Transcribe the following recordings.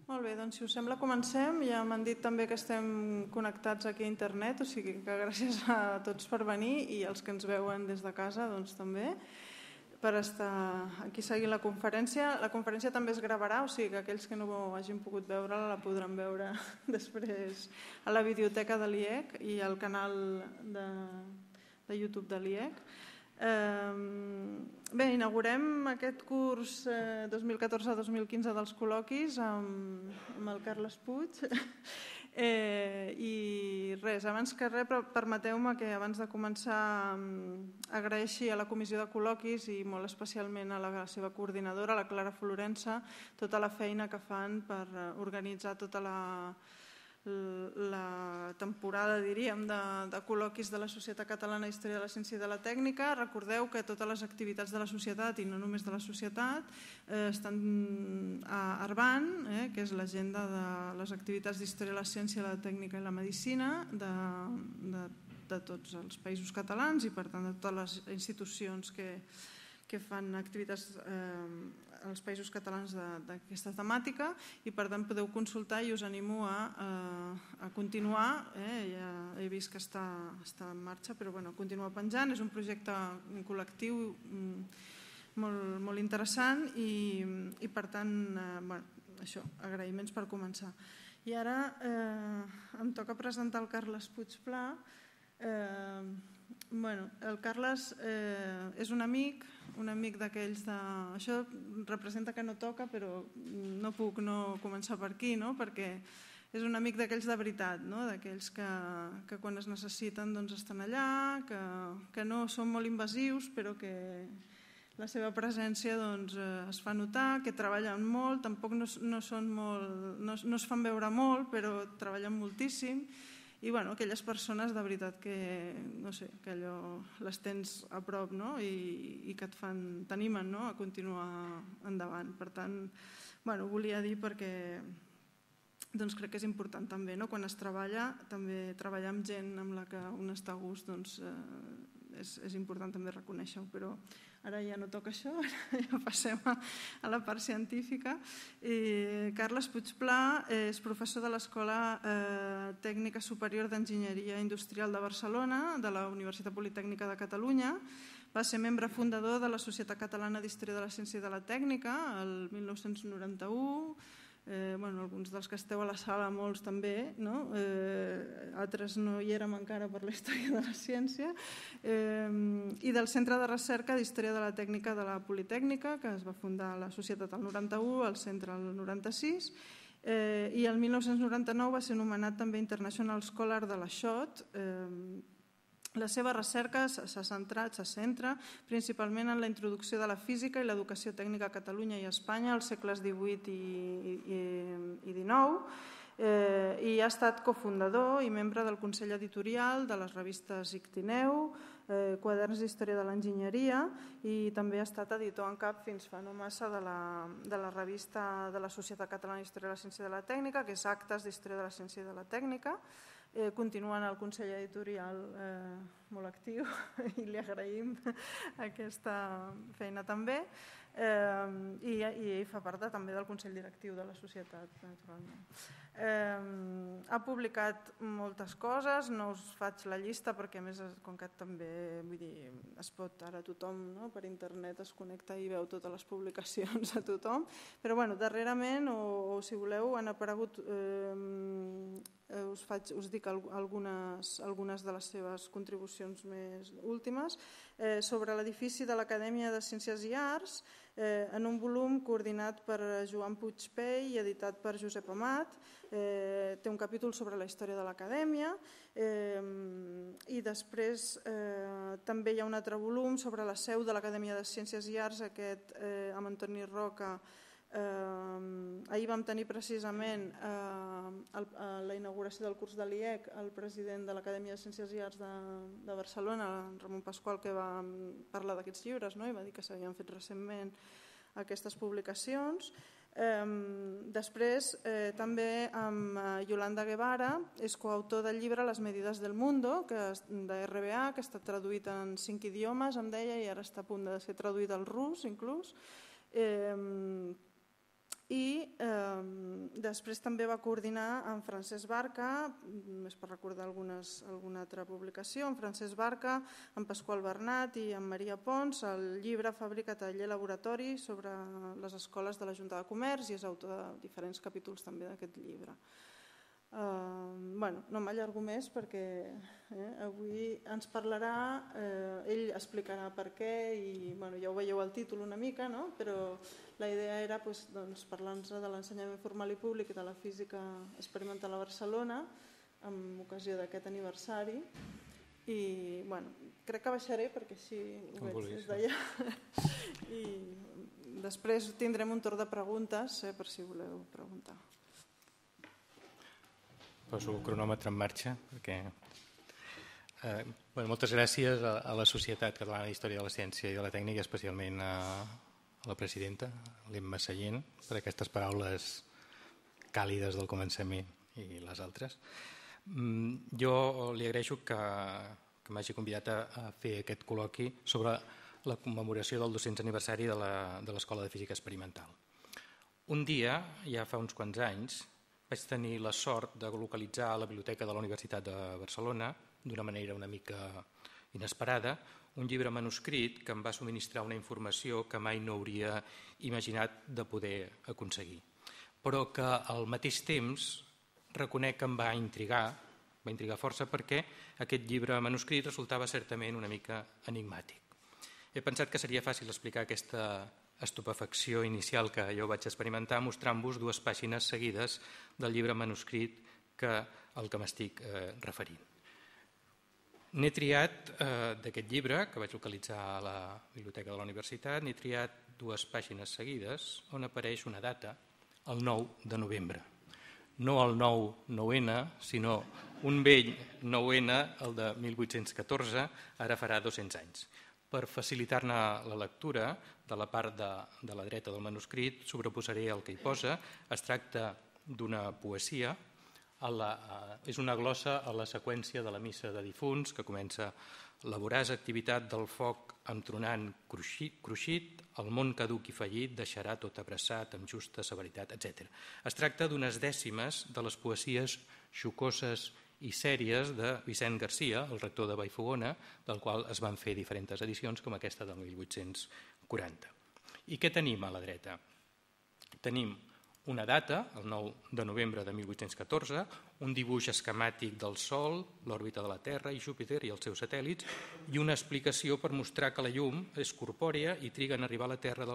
Molt bé, doncs si us sembla comencem. Ja m'han dit també que estem connectats aquí a internet, o sigui que gràcies a tots per venir i als que ens veuen des de casa doncs també per estar aquí seguint la conferència. La conferència també es gravarà, o sigui que aquells que no hagin pogut veure-la la podran veure després a la biblioteca de l'IEC i al canal de YouTube de l'IEC. Bé, inaugurem aquest curs 2014-2015 dels col·loquis amb el Carles Puig i res, abans que res permeteu-me que abans de començar agraeixi a la comissió de col·loquis i molt especialment a la seva coordinadora, la Clara Florença, tota la feina que fan per organitzar tota la temporada, diríem, de col·loquis de la Societat Catalana d'Història de la Ciència i de la Tècnica. Recordeu que totes les activitats de la societat, i no només de la societat, estan a Arban, que és l'agenda de les activitats d'Història de la Ciència, la Tècnica i la Medicina de tots els països catalans i, per tant, de totes les institucions que fan activitats als països catalans d'aquesta temàtica i per tant podeu consultar i us animo a continuar. Ja he vist que està en marxa, però continuar penjant. És un projecte col·lectiu molt interessant i per tant, això, agraïments per començar. I ara em toca presentar el Carles Puig Pla. El Carles és un amic d'aquells de... Això representa que no toca, però no puc no començar per aquí, perquè és un amic d'aquells de veritat, d'aquells que quan es necessiten estan allà, que no són molt invasius, però que la seva presència es fa notar, que treballen molt, tampoc no es fan veure molt, però treballen moltíssim. I aquelles persones de veritat que allò les tens a prop i que t'animen a continuar endavant. Per tant, ho volia dir perquè crec que és important també, quan es treballa, també treballar amb gent amb la que un està a gust, és important també reconèixer-ho, però ara ja no toca això, ja passem a la part científica. Carles Puig Pla és professor de l'Escola Tècnica Superior d'Enginyeria Industrial de Barcelona, de la Universitat Politècnica de Catalunya. Va ser membre fundador de la Societat Catalana d'Història de la Ciència i de la Tècnica el 1991. Alguns dels que esteu a la sala, molts també, altres no hi érem encara per la història de la ciència, i del Centre de Recerca d'Història de la Tècnica de la Politècnica, que es va fundar a la societat el 91, el centre el 96, i el 1999 va ser nomenat també International Scholar de la SCHOT. La seva recerca se centra principalment en la introducció de la física i l'educació tècnica a Catalunya i a Espanya als segles XVIII i XIX i ha estat cofundador i membre del Consell Editorial de les revistes Ictineu, Quaderns d'Història de l'Enginyeria i també ha estat editor en cap fins fa no massa de la revista de la Societat Catalana d'Història de la Ciència i de la Tècnica, que és Actes d'Història de la Ciència i de la Tècnica. Continuant el Consell Editorial molt actiu i li agraïm aquesta feina també i fa part també del Consell Directiu de la Societat, naturalment. Ha publicat moltes coses, no us faig la llista perquè a més com que també es pot ara tothom per internet es connecta i veu totes les publicacions a tothom, però darrerament o si voleu han aparegut, us dic algunes de les seves contribucions més últimes sobre l'edifici de l'Acadèmia de Ciències i Arts en un volum coordinat per Joan Puig Pey i editat per Josep Amat. Té un capítol sobre la història de l'Acadèmia i després també hi ha un altre volum sobre la seu de l'Acadèmia de Ciències i Arts, aquest amb Antoni Roca. Ahir vam tenir precisament la inauguració del curs de l'IEC el president de l'Acadèmia de Ciències i Arts de Barcelona, Ramon Pasqual, que va parlar d'aquests llibres i va dir que s'havien fet recentment aquestes publicacions. Després també amb Yolanda Guevara és coautor del llibre Les medidas del mundo de RBA, que està traduït en 5 idiomes, em deia, i ara està a punt de ser traduït al rus inclús. I després també va coordinar amb Francesc Barca, més per recordar alguna altra publicació, amb Francesc Barca, amb Pasqual Bernat i amb Maria Pons, el llibre Fàbrica, Taller, Laboratori sobre les escoles de la Junta de Comerç, i és autor de diferents capítols també d'aquest llibre. No m'allargo més perquè avui ens parlarà, ell explicarà per què i ja ho veieu al títol una mica, però la idea era parlar-nos de l'ensenyament formal i públic i de la física experimental a Barcelona amb ocasió d'aquest aniversari i crec que baixaré perquè així ho veig des d'allà i després tindrem un torn de preguntes per si voleu preguntar. Poso el cronòmetre en marxa perquè moltes gràcies a la Societat Catalana d'Història de la Ciència i de la Tècnica, especialment a la presidenta, l'Emma Sallent, per aquestes paraules càlides del començament i les altres. Jo li agraeixo que m'hagi convidat a fer aquest col·loqui sobre la commemoració del 200 aniversari de l'Escola de Física Experimental. Un dia, ja fa uns quants anys, vaig tenir la sort de localitzar a la biblioteca de la Universitat de Barcelona, d'una manera una mica inesperada, un llibre manuscrit que em va subministrar una informació que mai no hauria imaginat de poder aconseguir, però que al mateix temps reconec que em va intrigar força perquè aquest llibre manuscrit resultava certament una mica enigmàtic. He pensat que seria fàcil explicar aquesta estupefacció inicial que jo vaig experimentar mostrant-vos 2 pàgines seguides del llibre manuscrit al que m'estic referint. N'he triat d'aquest llibre, que vaig localitzar a la biblioteca de la universitat, n'he triat 2 pàgines seguides on apareix una data, el 9 de novembre. No el 9-9N, sinó un vell 9N, el de 1814, ara farà 200 anys. Per facilitar-ne la lectura, de la part de la dreta del manuscrit, sobreposaré el que hi posa. Es tracta d'una poesia, és una glossa a la seqüència de la missa de difunts, que comença la voraç activitat del foc entronant cruixit, el món caduc i fallit deixarà tot abraçat amb justa severitat, etc. Es tracta d'unes dècimes de les poesies xocoses i sèries de Vicent Garcia, el rector de Vallfogona, del qual es van fer diferents edicions, com aquesta del 1840. I què tenim a la dreta? Tenim una data, el 9 de novembre de 1814, un dibuix esquemàtic del Sol, l'òrbita de la Terra i Júpiter i els seus satèl·lits, i una explicació per mostrar que la llum és corpòrea i triga en arribar a la Terra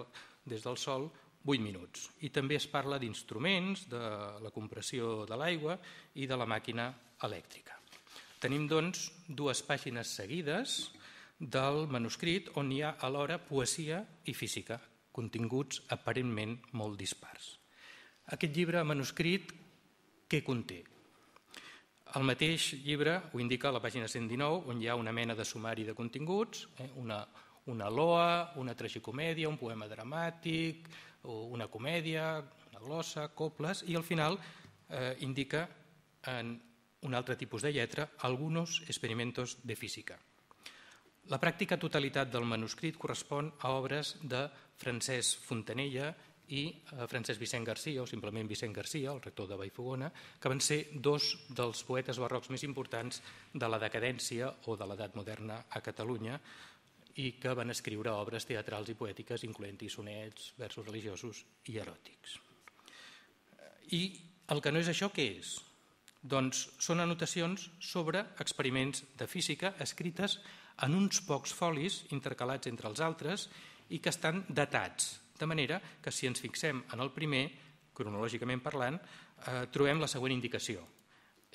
des del Sol 8 minuts. I també es parla d'instruments, de la compressió de l'aigua i de la màquina elèctrica. Tenim, doncs, 2 pàgines seguides del manuscrit on hi ha alhora poesia i física, continguts aparentment molt dispars. Aquest llibre manuscrit, què conté? El mateix llibre ho indica a la pàgina 119, on hi ha una mena de sumari de continguts, una loa, una tragicomèdia, un poema dramàtic, una comèdia, una glossa, coples, i al final indica en un altre tipus de lletra algunos experimentos de física. La pràctica totalitat del manuscrit correspon a obres de Francesc Fontanella i Francesc Vicent Garcia, o simplement Vicent Garcia, el rector de Vallfogona, que van ser 2 dels poetes barrocs més importants de la decadència o de l'edat moderna a Catalunya i que van escriure obres teatrals i poètiques, incloent-hi sonets, versos religiosos i eròtics. I el que no és això, què és? Doncs són anotacions sobre experiments de física escrites en uns pocs folis intercalats entre els altres i que estan datats, de manera que si ens fixem en el primer, cronològicament parlant, trobem la següent indicació.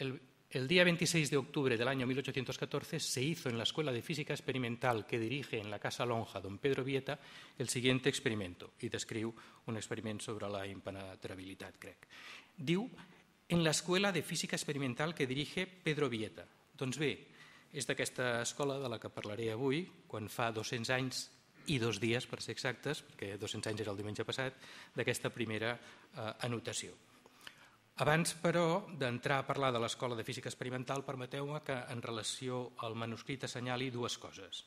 El día 26 de octubre del año 1814 se hizo en la Escuela de Física Experimental que dirige en la Casa Lonja don Pedro Vieta el siguiente experimento, i descriu un experiment sobre la impenetrabilitat, crec. Diu, en la Escuela de Física Experimental que dirige Pedro Vieta. Doncs bé, és d'aquesta escola de la que parlaré avui, quan fa 200 anys i 2 dies, per ser exactes, perquè 200 anys era el diumenge passat, d'aquesta primera anotació. Abans, però, d'entrar a parlar de l'Escola de Física Experimental, permeteu-me que en relació al manuscrit assenyali 2 coses.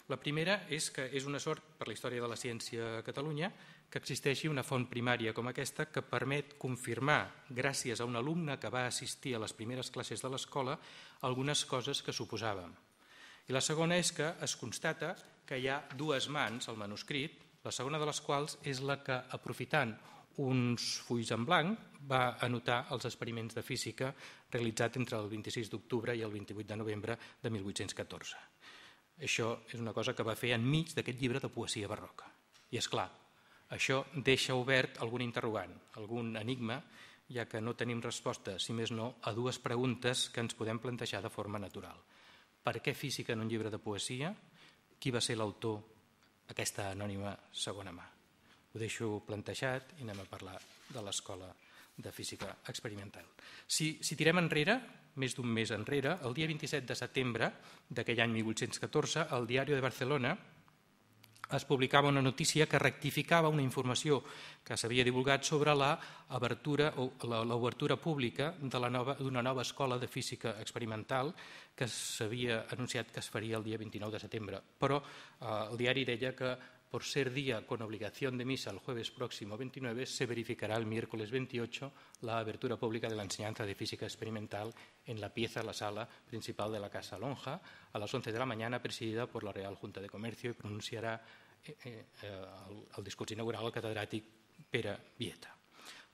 La primera és que és una sort per la història de la ciència a Catalunya que existeixi una font primària com aquesta que permet confirmar, gràcies a un alumne que va assistir a les primeres classes de l'escola, algunes coses que suposàvem. I la segona és que es constata que hi ha dues mans al manuscrit, la segona de les quals és la que, aprofitant uns fulls en blanc, va anotar els experiments de física realitzats entre el 26 d'octubre i el 28 de novembre de 1814. Això és una cosa que va fer enmig d'aquest llibre de poesia barroca. I és clar, això deixa obert algun interrogant, algun enigma, ja que no tenim resposta, si més no, a dues preguntes que ens podem plantejar de forma natural. Per què física en un llibre de poesia? Qui va ser l'autor d'aquesta anònima segona mà? Ho deixo plantejat i anem a parlar de l'Escola de Física Experimental. Si tirem enrere, més d'un mes enrere, el dia 27 de setembre d'aquell any 1814, al Diario de Barcelona es publicava una notícia que rectificava una informació que s'havia divulgat sobre l'obertura pública d'una nova escola de física experimental que s'havia anunciat que es faria el dia 29 de setembre. Però el diari deia que por ser día con obligación de misa el jueves próximo 29, se verificará el miércoles 28 la abertura pública de la enseñanza de física experimental en la sala principal de la Casa Lonja a las 11 de la mañana, presidida por la Real Junta de Comercio, y pronunciarà el discurs inaugural el catedràtic Pere Vieta.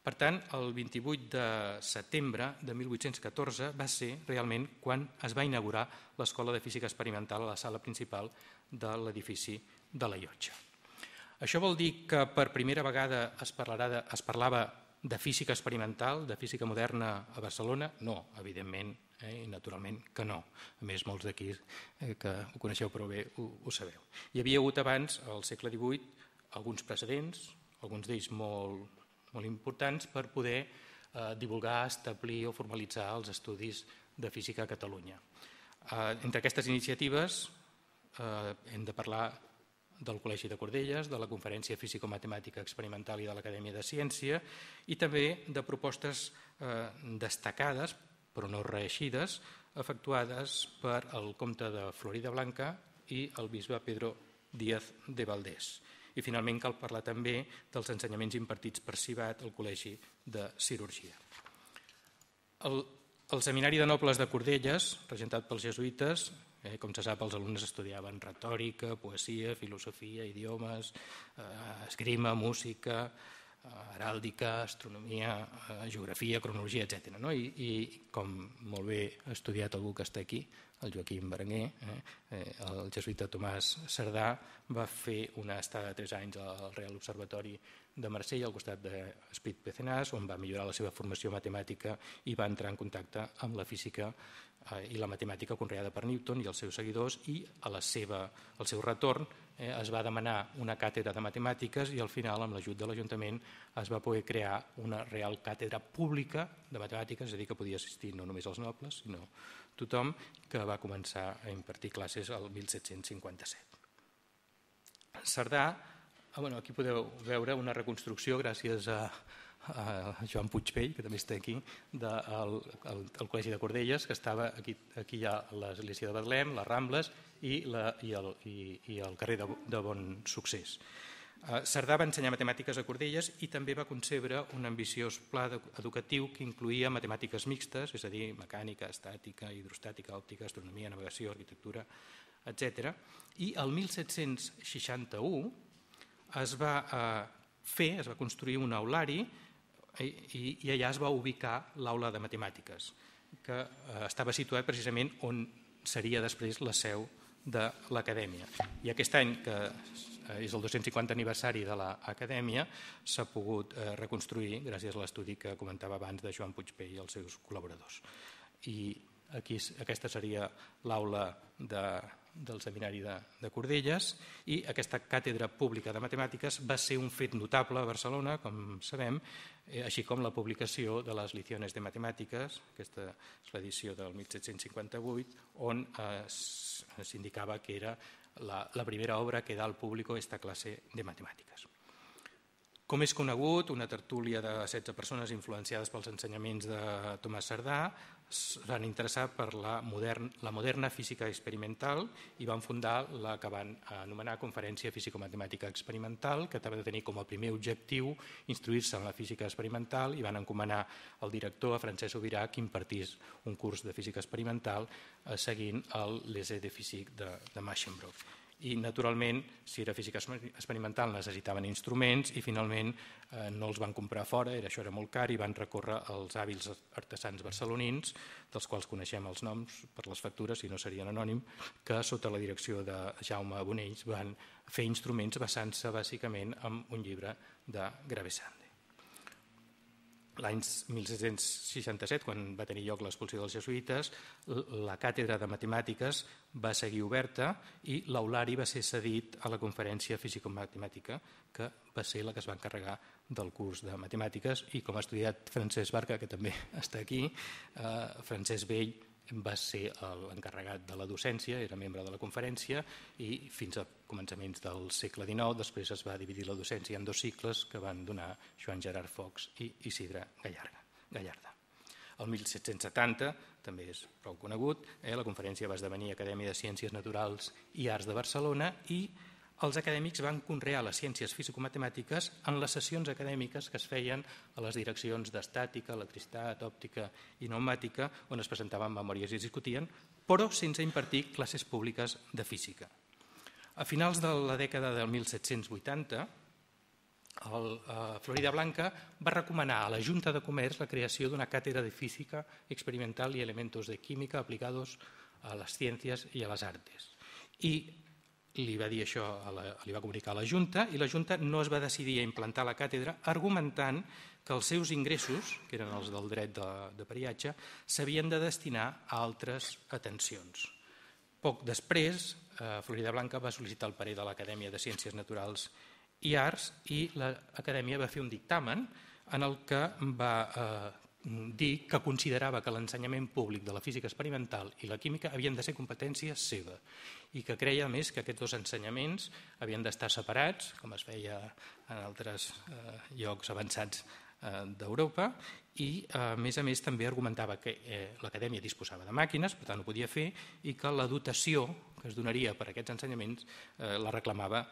Per tant, el 28 de setembre de 1814 va ser realment quan es va inaugurar l'Escola de Física Experimental a la sala principal de l'edifici de la Llotja. Això vol dir que per primera vegada es parlava de física experimental, de física moderna a Barcelona? No, evidentment i naturalment que no. A més, molts d'aquí que ho coneixeu prou bé ho sabeu. Hi havia hagut abans, al segle XVIII, alguns precedents, alguns d'ells molt importants, per poder divulgar, establir o formalitzar els estudis de física a Catalunya. Entre aquestes iniciatives hem de parlar del Col·legi de Cordelles, de la Conferència Físico-Matemàtica Experimental i de l'Acadèmia de Ciència, i també de propostes destacades, però no reeixides, efectuades per el comte de Floridablanca i el bisbe Pedro Díaz de Valdés. I finalment cal parlar també dels ensenyaments impartits per Civat al Col·legi de Cirurgia. El Seminari de Nobles de Cordelles, regentat pels jesuïtes, com se sap, els alumnes estudiaven retòrica, poesia, filosofia, idiomes, esgrima, música, heràldica, astronomia, geografia, cronologia, etc. I com molt bé ha estudiat algú que està aquí, el Joaquim Berenguer, el jesuïta Tomàs Cerdà va fer una estada de 3 anys al Real Observatori de Marsella al costat d'Esprit Pézenas, on va millorar la seva formació matemàtica i va entrar en contacte amb la física i la matemàtica conreada per Newton i els seus seguidors, i al seu retorn es va demanar una càtedra de matemàtiques i al final, amb l'ajut de l'Ajuntament, es va poder crear una real càtedra pública de matemàtiques, és a dir, que podia assistir no només els nobles, sinó tothom, que va començar a impartir classes el 1757. Cerdà, aquí podeu veure una reconstrucció gràcies a Joan Puigpell, que també està aquí, del Col·legi de Cordelles, que estava aquí hi ha l'església de Betlem, les Rambles i el carrer de Bon Succés. Cerdà va ensenyar matemàtiques a Cordelles i també va concebre un ambiciós pla educatiu que incloïa matemàtiques mixtes, és a dir, mecànica, estàtica, hidrostàtica, òptica, astronomia, navegació, arquitectura, etc. I el 1761 es va construir un aulari i allà es va ubicar l'aula de matemàtiques, que estava situat precisament on seria després la seu de l'Acadèmia. I aquest any, que és el 250 aniversari de l'Acadèmia, s'ha pogut reconstruir gràcies a l'estudi que comentava abans de Joan Puigpell i els seus col·laboradors. I aquesta seria l'aula del Seminari de Cordelles, i aquesta càtedra pública de matemàtiques va ser un fet notable a Barcelona, com sabem, així com la publicació de les Liciones de Matemàtiques, aquesta és l'edició del 1758, on s'indicava que era la primera obra que da al público esta clase de matemáticas. Com és conegut, una tertúlia de 16 persones influenciades pels ensenyaments de Tomàs Cerdà es van interessar per la moderna física experimental i van fundar la que van anomenar Conferència Físico-Matemàtica Experimental, que havia de tenir com a primer objectiu instruir-se en la física experimental, i van encomanar al director, a Francesc Subirà, que impartís un curs de física experimental seguint l'essai de físic de Machenbrock. I, naturalment, si era física experimental necessitaven instruments i finalment no els van comprar fora, això era molt car, i van recórrer als hàbils artesans barcelonins, dels quals coneixem els noms per les factures, si no serien anònim, que sota la direcció de Jaume Bonells van fer instruments basant-se bàsicament en un llibre de Gravesande. L'any 1767, quan va tenir lloc l'expulsió dels jesuïtes, la càtedra de matemàtiques va seguir oberta i l'aulari va ser cedit a la Conferència Físico-Matemàtica, que va ser la que es va encarregar del curs de matemàtiques, i com ha estudiat Francesc Barca, que també està aquí, Francesc Bell va ser l'encarregat de la docència, era membre de la conferència, i fins a començaments del segle XIX després es va dividir la docència en 2 cicles que van donar Joan Gerard Fox i Isidre Gallarda. El 1770, també és prou conegut, la conferència va esdevenir Acadèmia de Ciències Naturals i Arts de Barcelona, i els acadèmics van conrear les ciències físico-matemàtiques en les sessions acadèmiques que es feien a les direccions d'estàtica, electricitat, òptica i pneumàtica, on es presentaven memòries i es discutien, però sense impartir classes públiques de física. A finals de la dècada del 1780, Floridablanca va recomanar a la Junta de Comerç la creació d'una càtedra de física experimental y elementos de química aplicados a las ciencias y a las artes. I li va dir això, li va comunicar a la Junta, i la Junta no es va decidir a implantar la càtedra, argumentant que els seus ingressos, que eren els del dret de peatge, s'havien de destinar a altres atencions. Poc després, Floridablanca va sol·licitar el parer de l'Acadèmia de Ciències Naturals i Arts, i l'Acadèmia va fer un dictamen en el que va dir que considerava que l'ensenyament públic de la física experimental i la química havien de ser competència seva, i que creia, a més, que aquests 2 ensenyaments havien d'estar separats, com es feia en altres llocs avançats d'Europa, i a més també argumentava que l'Acadèmia disposava de màquines, per tant ho podia fer, i que la dotació que es donaria per a aquests ensenyaments la reclamava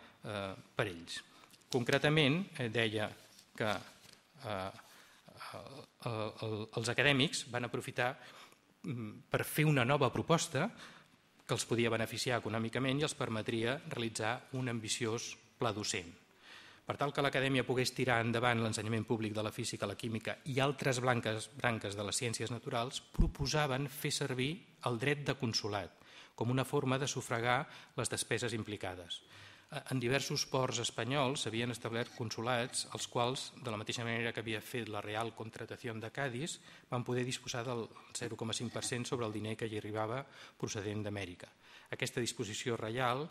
per ells. Concretament, deia que els acadèmics van aprofitar per fer una nova proposta que els podia beneficiar econòmicament i els permetria realitzar un ambiciós pla docent. Per tal que l'Acadèmia pogués tirar endavant l'ensenyament públic de la física, la química i altres branques de les ciències naturals, proposaven fer servir el dret de consolat com una forma de sufragar les despeses implicades. En diversos ports espanyols s'havien establert consolats, els quals, de la mateixa manera que havia fet la Real Contratación de Cádiz, van poder disposar del 0,5% sobre el diner que hi arribava procedent d'Amèrica. Aquesta disposició reial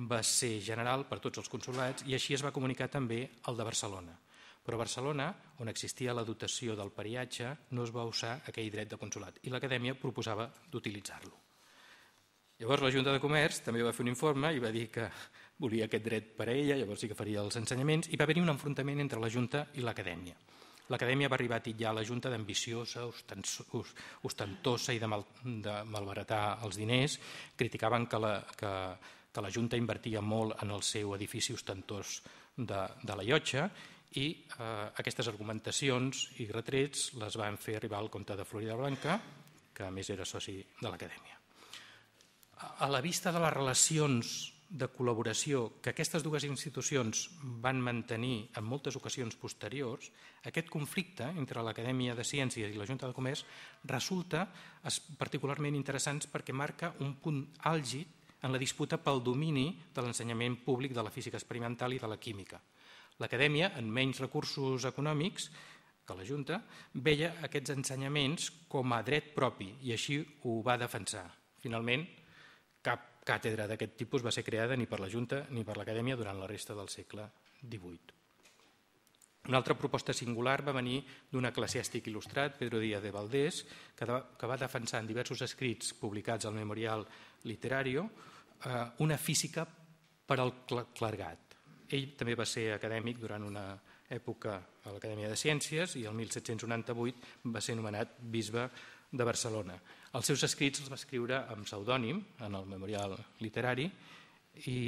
va ser general per tots els consolats i així es va comunicar també al de Barcelona. Però a Barcelona, on existia la dotació del peatge, no es va usar aquell dret de consolat i l'Acadèmia proposava d'utilitzar-lo. Llavors la Junta de Comerç també va fer un informe i va dir que volia aquest dret per a ella, llavors sí que faria els ensenyaments, i va haver-hi un enfrontament entre la Junta i l'Acadèmia. L'Acadèmia va arribar a titllar la Junta d'ambiciosa, ostentosa i de malbaratar els diners. Criticaven que la Junta invertia molt en el seu edifici ostentós de la Llotja, i aquestes argumentacions i retrets les van fer arribar al comte de Floridablanca, que a més era soci de l'Acadèmia. A la vista de les relacions de col·laboració que aquestes 2 institucions van mantenir en moltes ocasions posteriors, aquest conflicte entre l'Acadèmia de Ciències i la Junta de Comerç resulta particularment interessant perquè marca un punt àlgid en la disputa pel domini de l'ensenyament públic de la física experimental i de la química. L'Acadèmia, amb menys recursos econòmics que la Junta, veia aquests ensenyaments com a dret propi i així ho va defensar. Finalment, cap càtedra d'aquest tipus va ser creada ni per la Junta ni per l'Acadèmia durant la resta del segle XVIII. Una altra proposta singular va venir d'un eclesiàstic il·lustrat, Pedro Díaz de Valdés, que va defensar en diversos escrits publicats al Memorial Literario una física per al clergat. Ell també va ser acadèmic durant una època a l'Acadèmia de Ciències i el 1798 va ser nomenat bisbe de Barcelona. Els seus escrits els va escriure amb pseudònim en el Memorial Literari i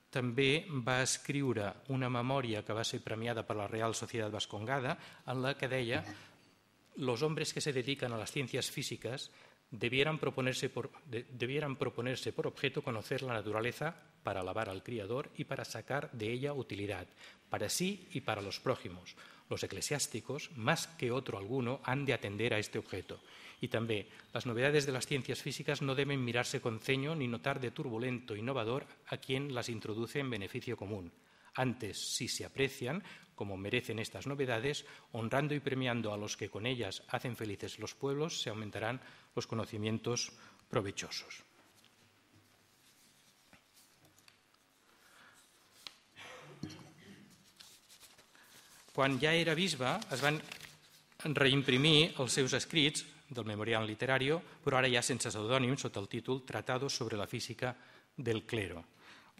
també va escriure una memòria que va ser premiada per la Real Sociedad Vascongada en la que deia: los hombres que se dedican a las ciencias físicas debieran proponerse por objeto conocer la naturaleza para alabar al Criador y para sacar de ella utilidad, para sí y para los prójimos. Los eclesiásticos, más que otro alguno, han de atender a este objeto. Y también, las novedades de las ciencias físicas no deben mirarse con ceño ni notar de turbulento innovador a quien las introduce en beneficio común. Antes, si se aprecian, como merecen estas novedades, honrando y premiando a los que con ellas hacen felices los pueblos, se aumentarán los conocimientos provechosos. Quan ja era bisbe, es van reimprimir els seus escrits del Memorial Literario, però ara ja sense pseudònim, sota el títol Tratado sobre la física del clero,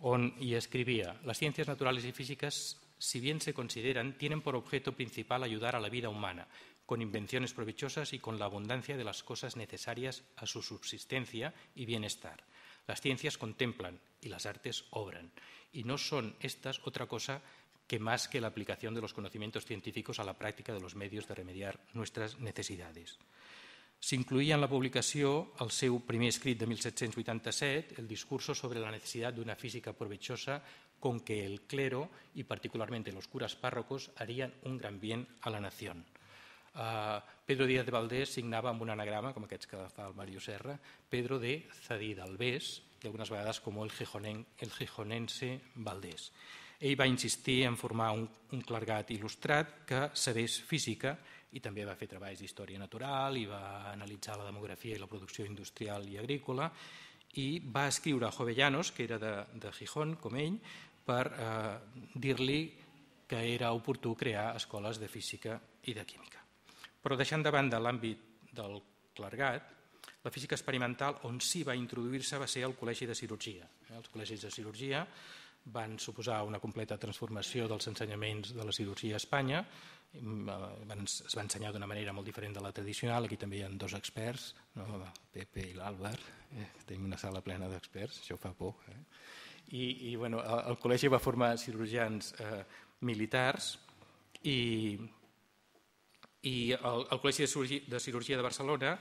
on hi escrivia: las ciencias naturales y físicas, si bien se consideran, tienen por objeto principal ayudar a la vida humana, con invenciones provechosas y con la abundancia de las cosas necesarias a su subsistencia y bienestar. Las ciencias contemplan y las artes obran, y no son estas otra cosa que más que la aplicación de los conocimientos científicos a la práctica de los medios de remediar nuestras necesidades. S'incloïa en la publicació el seu primer escrit de 1787, el discurso sobre la necesidad de una física provechosa con que el clero y particularmente los curas párrocos harían un gran bien a la nación. Pedro Díaz de Valdés signava amb un anagrama, com aquests que fa el Mario Serra, Pedro de Zadí d'Albés, i algunes vegades com el gijonense Valdés. Ell va insistir en formar un clergat il·lustrat que sabés física i també va fer treballs d'història natural i va analitzar la demografia i la producció industrial i agrícola, i va escriure a Jovellanos, que era de Gijón, com ell, per dir-li que era oportú crear escoles de física i de química. Però deixant de banda l'àmbit del clergat, la física experimental on sí va introduir-se va ser el Col·legi de Cirurgia. Els col·legis de cirurgia van suposar una completa transformació dels ensenyaments de la cirurgia a Espanya. Es va ensenyar d'una manera molt diferent de la tradicional. Aquí també hi ha dos experts, el Pepe i l'Àlvar. Tenim una sala plena d'experts, això fa por. I el col·legi va formar cirurgians militars i el Col·legi de Cirurgia de Barcelona,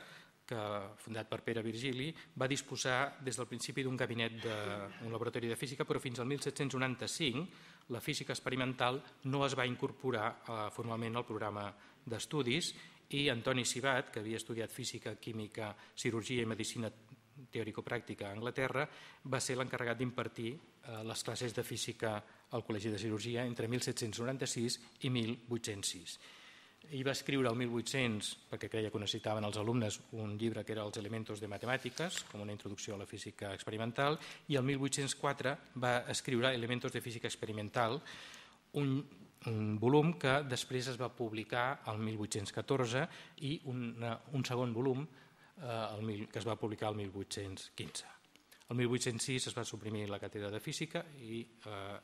fundat per Pere Virgili, va disposar des del principi d'un gabinet d'un laboratori de física, però fins al 1795 la física experimental no es va incorporar formalment al programa d'estudis i Antoni Sibat, que havia estudiat física, química, cirurgia i medicina teòrico-pràctica a Anglaterra, va ser l'encarregat d'impartir les classes de física al Col·legi de Cirurgia entre 1796 i 1806. Ell va escriure el 1800, perquè creia que ho necessitaven els alumnes, un llibre que era Els elementos de matemàtiques, com una introducció a la física experimental, i el 1804 va escriure Elementos de física experimental, un volum que després es va publicar el 1814 i un segon volum que es va publicar el 1815. El 1806 es va suprimir la càtedra de física i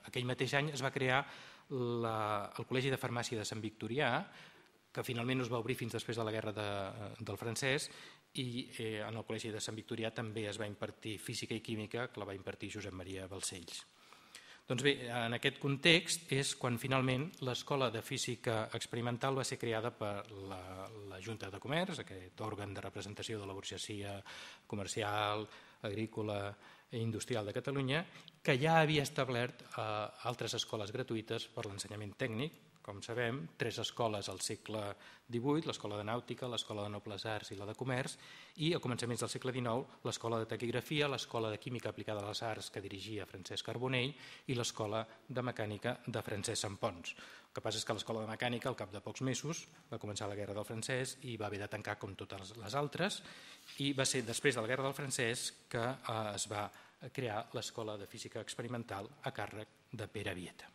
aquell mateix any es va crear el Col·legi de Farmàcia de Sant Victorià, que finalment no es va obrir fins després de la guerra del francès, i en el Col·legi de Sant Victorià també es va impartir física i química, que la va impartir Josep Maria Balcells. Doncs bé, en aquest context és quan finalment l'Escola de Física Experimental va ser creada per la Junta de Comerç, aquest òrgan de representació de la burgesia comercial, agrícola i industrial de Catalunya, que ja havia establert altres escoles gratuïtes per l'ensenyament tècnic. Com sabem, 3 escoles al segle XVIII, l'Escola de Nàutica, l'Escola de Nobles Arts i la de Comerç, i a començaments del segle XIX, l'Escola de Taquigrafia, l'Escola de Química aplicada a les Arts que dirigia Francesc Carbonell i l'Escola de Mecànica de Francesc Sampons. El que passa és que l'Escola de Mecànica, al cap de pocs mesos, va començar la Guerra del Francès i va haver de tancar com totes les altres, i va ser després de la Guerra del Francès que es va crear l'Escola de Física Experimental a càrrec de Pere Vieta.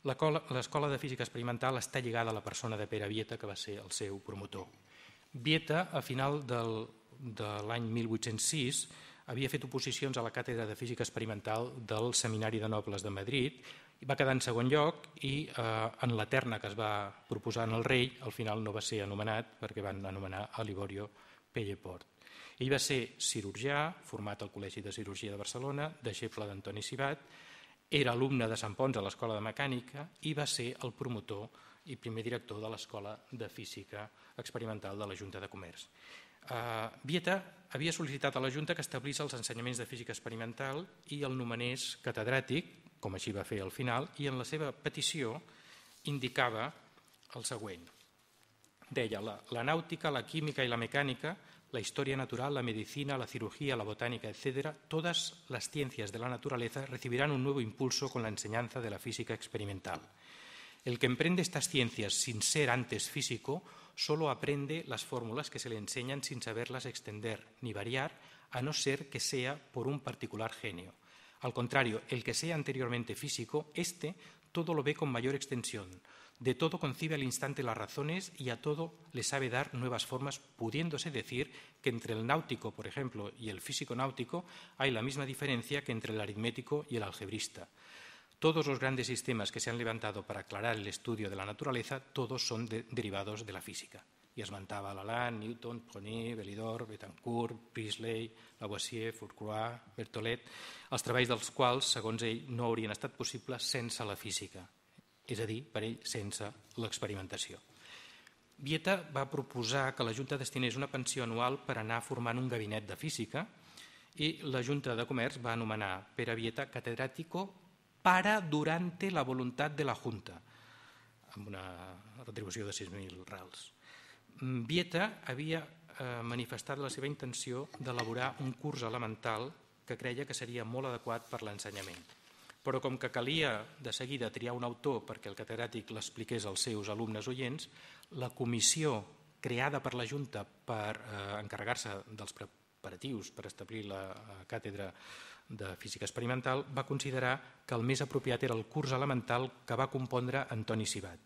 L'Escola de Física Experimental està lligada a la persona de Pere Vieta, que va ser el seu promotor. Vieta, a final de l'any 1806, havia fet oposicions a la càtedra de Física Experimental del Seminari de Nobles de Madrid Va quedar en segon lloc i en la terna que es va proposar en el rei al final no va ser anomenat perquè van anomenar a Liborio Pelleport. Ell va ser cirurgià, format al Col·legi de Cirurgia de Barcelona, deixeble d'Antoni Civat, era alumne de Sant Pons a l'Escola de Mecànica i va ser el promotor i primer director de l'Escola de Física Experimental de la Junta de Comerç. Vieta havia sol·licitat a la Junta que establís els ensenyaments de física experimental i el nomenés catedràtic, com així va fer al final, i en la seva petició indicava el següent. Deia, la nàutica, la química y la mecánica, la historia natural, la medicina, la cirugía, la botánica, etc., todas las ciencias de la naturaleza recibirán un nuevo impulso con la enseñanza de la física experimental. El que emprende estas ciencias sin ser antes físico solo aprende las fórmulas que se le enseñan sin saberlas extender ni variar, a no ser que sea por un particular genio. Al contrario, el que sea anteriormente físico, todo lo ve con mayor extensión. De todo concibe al instante las razones y a todo le sabe dar nuevas formas, pudiéndose decir que entre el náutico, por ejemplo, y el físico náutico hay la misma diferencia que entre el aritmético y el algebrista. Todos los grandes sistemas que se han levantado para aclarar el estudio de la naturaleza, todos son derivados de la física. I esmentava Lalande, Newton, Brownier, Belidor, Betancourt, Priestley, Lavoisier, Fourcroy, Berthollet, els treballs dels quals, segons ell, no haurien estat possibles sense la física, és a dir, per ell, sense l'experimentació. Vieta va proposar que la Junta destinés una pensió anual per anar formant un gabinet de física i la Junta de Comerç va anomenar Pere Vieta catedràtico para durante la voluntad de la Junta, amb una retribució de 6.000 rals. Vieta havia manifestat la seva intenció d'elaborar un curs elemental que creia que seria molt adequat per l'ensenyament. Però com que calia de seguida triar un autor perquè el catedràtic l'expliqués als seus alumnes oients, la comissió creada per la Junta per encarregar-se dels preparatius per establir la càtedra de Física Experimental va considerar que el més apropiat era el curs elemental que va compondre Antoni Civat.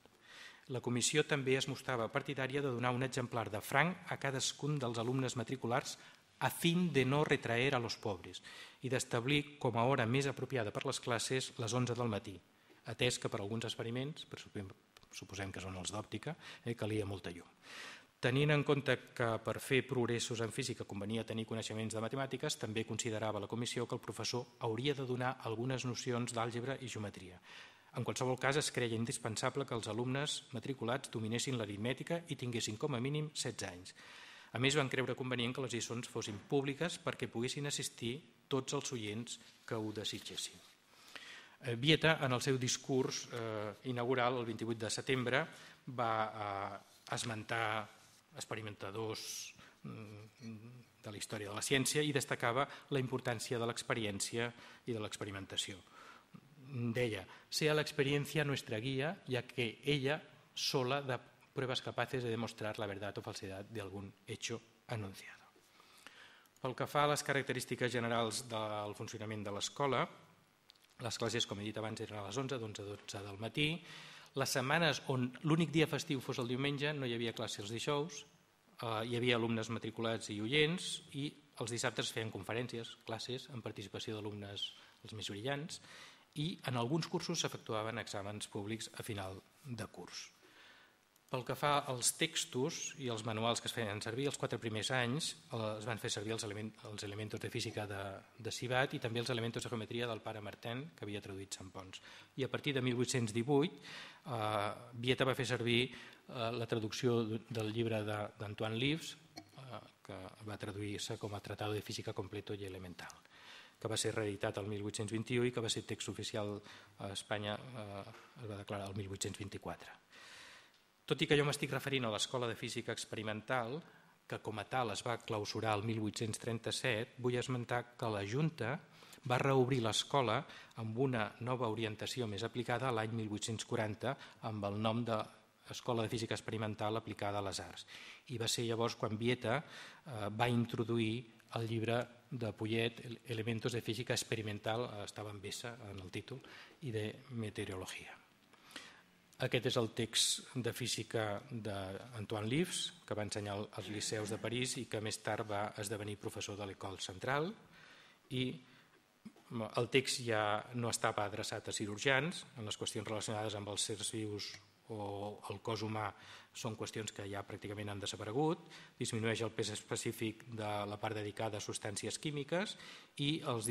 La comissió també es mostrava partidària de donar un exemplar de franc a cadascun dels alumnes matriculars a fin de no retraer a los pobres i d'establir com a hora més apropiada per les classes les 11 del matí, atès que per alguns experiments, suposem que són els d'òptica, calia molta llum. Tenint en compte que per fer progressos en física convenia tenir coneixements de matemàtiques, també considerava la comissió que el professor hauria de donar algunes nocions d'àlgebra i geometria. En qualsevol cas, es creia indispensable que els alumnes matriculats dominessin l'aritmètica i tinguessin com a mínim 16 anys. A més, van creure convenient que les lliçons fossin públiques perquè poguessin assistir tots els oients que ho desitgessin. Vieta, en el seu discurs inaugural, el 28 de setembre, va esmentar experimentadors de la història de la ciència i destacava la importància de l'experiència i de l'experimentació. Deia, sea la experiencia nuestra guía, ya que ella sola da pruebas capaces de demostrar la verdad o falsedad de algún hecho anunciado. Pel que fa a les característiques generals del funcionament de l'escola, les classes, com he dit abans, eren a les 11, d'11 a 12 del matí. Les setmanes on l'únic dia festiu fos el diumenge no hi havia classe els dijous, hi havia alumnes matriculats i oients i els dissabtes feien conferències, classes, amb participació d'alumnes els més brillants, i en alguns cursos s'efectuaven exàmens públics a final de curs. Pel que fa als textos i els manuals que es feien servir, els 4 primers anys es van fer servir els elementos de física de Civat i també els elementos de geometria del pare Martin, que havia traduït Sant Pons. I a partir de 1818, Vieta va fer servir la traducció del llibre d'Antoine Lives, que va traduir-se com a Tratado de Física Completo y Elemental, que va ser reeditat el 1821 i que va ser text oficial a Espanya, es va declarar el 1824. Tot i que jo m'estic referint a l'Escola de Física Experimental, que com a tal es va clausurar el 1837, vull esmentar que la Junta va reobrir l'escola amb una nova orientació més aplicada l'any 1840 amb el nom d'Escola de Física Experimental aplicada a les arts. I va ser llavors quan Vieta va introduir el llibre de Pouillet, Elementos de Física Experimental, estava amb S en el títol, i de Meteorologia. Aquest és el text de física d'Antoine Lives, que va ensenyar als liceus de París i que més tard va esdevenir professor de l'École Centrale, i El text ja no estava adreçat a cirurgians, en les qüestions relacionades amb els sers vius o el cos humà són qüestions que ja pràcticament han desaparegut, disminueix el pes específic de la part dedicada a substàncies químiques i el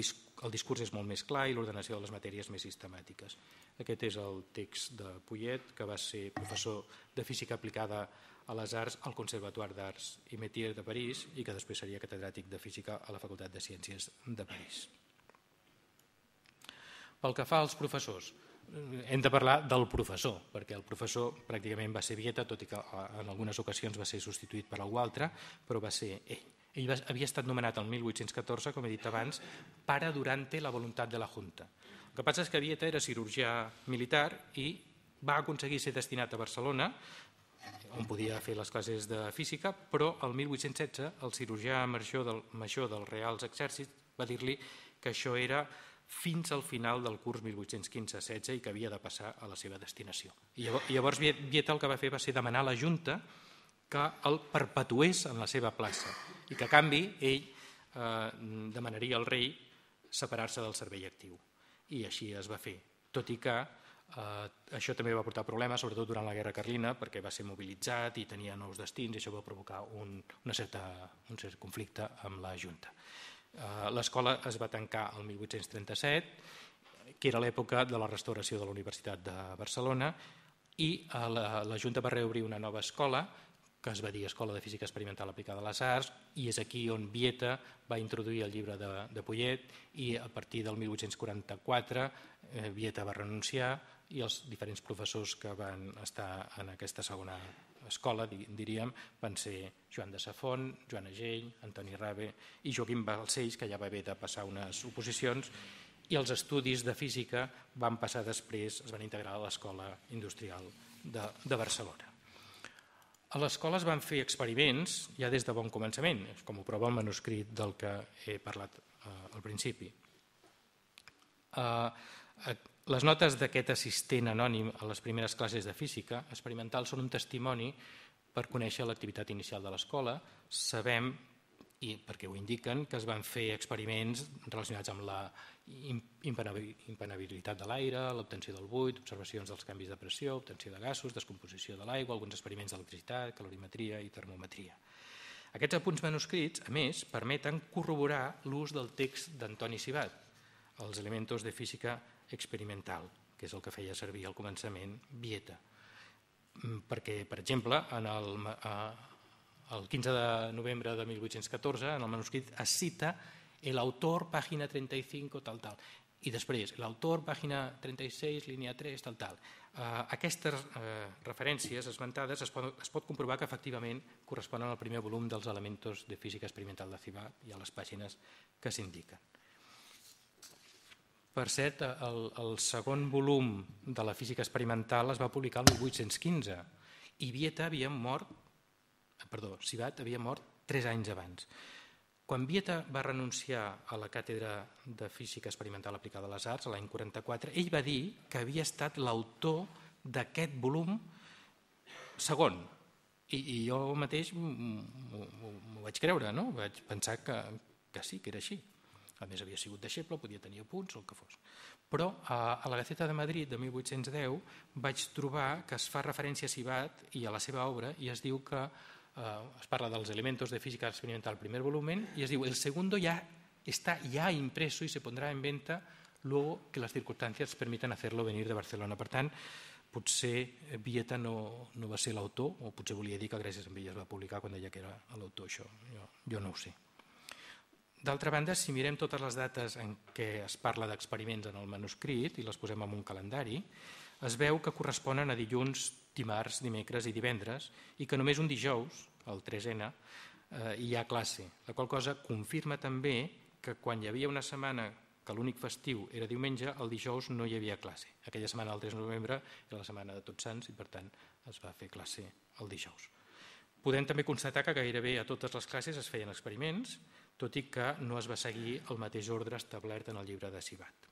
discurs és molt més clar i l'ordenació de les matèries més sistemàtiques. Aquest és el text de Pouillet, que va ser professor de física aplicada a les arts al Conservatoire d'Arts i Métiers de París i que després seria catedràtic de física a la Facultat de Ciències de París. Pel que fa als professors, hem de parlar del professor, perquè el professor pràcticament va ser Vieta, tot i que en algunes ocasions va ser substituït per algú altre, però va ser ell. Ell havia estat nomenat el 1814, com he dit abans, para durante la voluntat de la Junta. El que passa és que Vieta era cirurgià militar i va aconseguir ser destinat a Barcelona, on podia fer les classes de física, però el 1816 el cirurgià major dels Reals Exèrcits va dir-li que això era fins al final del curs 1815-16 i que havia de passar a la seva destinació. I llavors Vieta el que va fer va ser demanar a la Junta que el perpetués en la seva plaça i que a canvi ell demanaria al rei separar-se del servei actiu. I així es va fer, tot i que això també va portar problemes, sobretot durant la Guerra Carlina, perquè va ser mobilitzat i tenia nous destins i això va provocar un cert conflicte amb la Junta. L'escola es va tancar el 1837, que era l'època de la restauració de la Universitat de Barcelona, i la Junta va reobrir una nova escola, que es va dir Escola de Física Experimental Aplicada a les Arts, i és aquí on Vieta va introduir el llibre de Pouillet, i a partir del 1844 Vieta va renunciar i els diferents professors que van estar en aquesta segona escola, diríem, van ser Joan de Safont, Joan Agell, Antoni Rabe i Joaquim Balcells, que ja va haver de passar unes oposicions, i els estudis de física van passar després, es van integrar a l'Escola Industrial de Barcelona. A l'escola es van fer experiments ja des de bon començament, com ho prova el manuscrit del que he parlat al principi. Les notes d'aquest assistent anònim a les primeres classes de física experimental són un testimoni per conèixer l'activitat inicial de l'escola. Sabem, i perquè ho indiquen, que es van fer experiments relacionats amb la impenetrabilitat de l'aire, l'obtenció del buit, observacions dels canvis de pressió, obtenció de gasos, descomposició de l'aigua, alguns experiments d'electricitat, calorimetria i termometria. Aquests apunts manuscrits, a més, permeten corroborar l'ús del text d'Antoni Sibat, els elementos de física experimental, que és el que feia servir al començament Vieta. Perquè, per exemple, el 15 de novembre de 1814, en el manuscrit es cita el autor, pàgina 35, tal. I després, l'autor, pàgina 36, línia 3, tal. Aquestes referències esmentades es pot comprovar que efectivament corresponen al primer volum dels Elementos de Física Experimental de Sibat i a les pàgines que s'indiquen. Per cert, el segon volum de la física experimental es va publicar el 1815 i Sibat havia mort 3 anys abans. Quan Vieta va renunciar a la càtedra de física experimental aplicada a les arts, l'any 44, ell va dir que havia estat l'autor d'aquest volum segon. I jo mateix m'ho vaig creure, no? Vaig pensar que sí, que era així. A més, havia sigut deixeble, podia tenir apunts o el que fos. Però a la Gaceta de Madrid de 1810 vaig trobar que es fa referència a Sibat i a la seva obra i es diu que es parla dels elementos de física experimental primer volumen y es diu el segundo ya está ya impreso y se pondrá en venta luego que las circunstancias permitan hacerlo venir de Barcelona. Per tant, potser Vieta no va ser l'autor, o potser volia dir que gràcies a ell es va publicar quan deia que era l'autor, això jo no ho sé. D'altra banda, si mirem totes les dates en què es parla d'experiments en el manuscrit i les posem en un calendari, es veu que corresponen a dilluns, dimarts, dimecres i divendres i que només un dijous, el 3N, hi ha classe, la qual cosa confirma també que quan hi havia una setmana que l'únic festiu era diumenge, el dijous no hi havia classe. Aquella setmana, el 3 de novembre, era la setmana de Tots Sants i, per tant, es va fer classe el dijous. Podem també constatar que gairebé a totes les classes es feien experiments, tot i que no es va seguir el mateix ordre establert en el llibre de Sibat.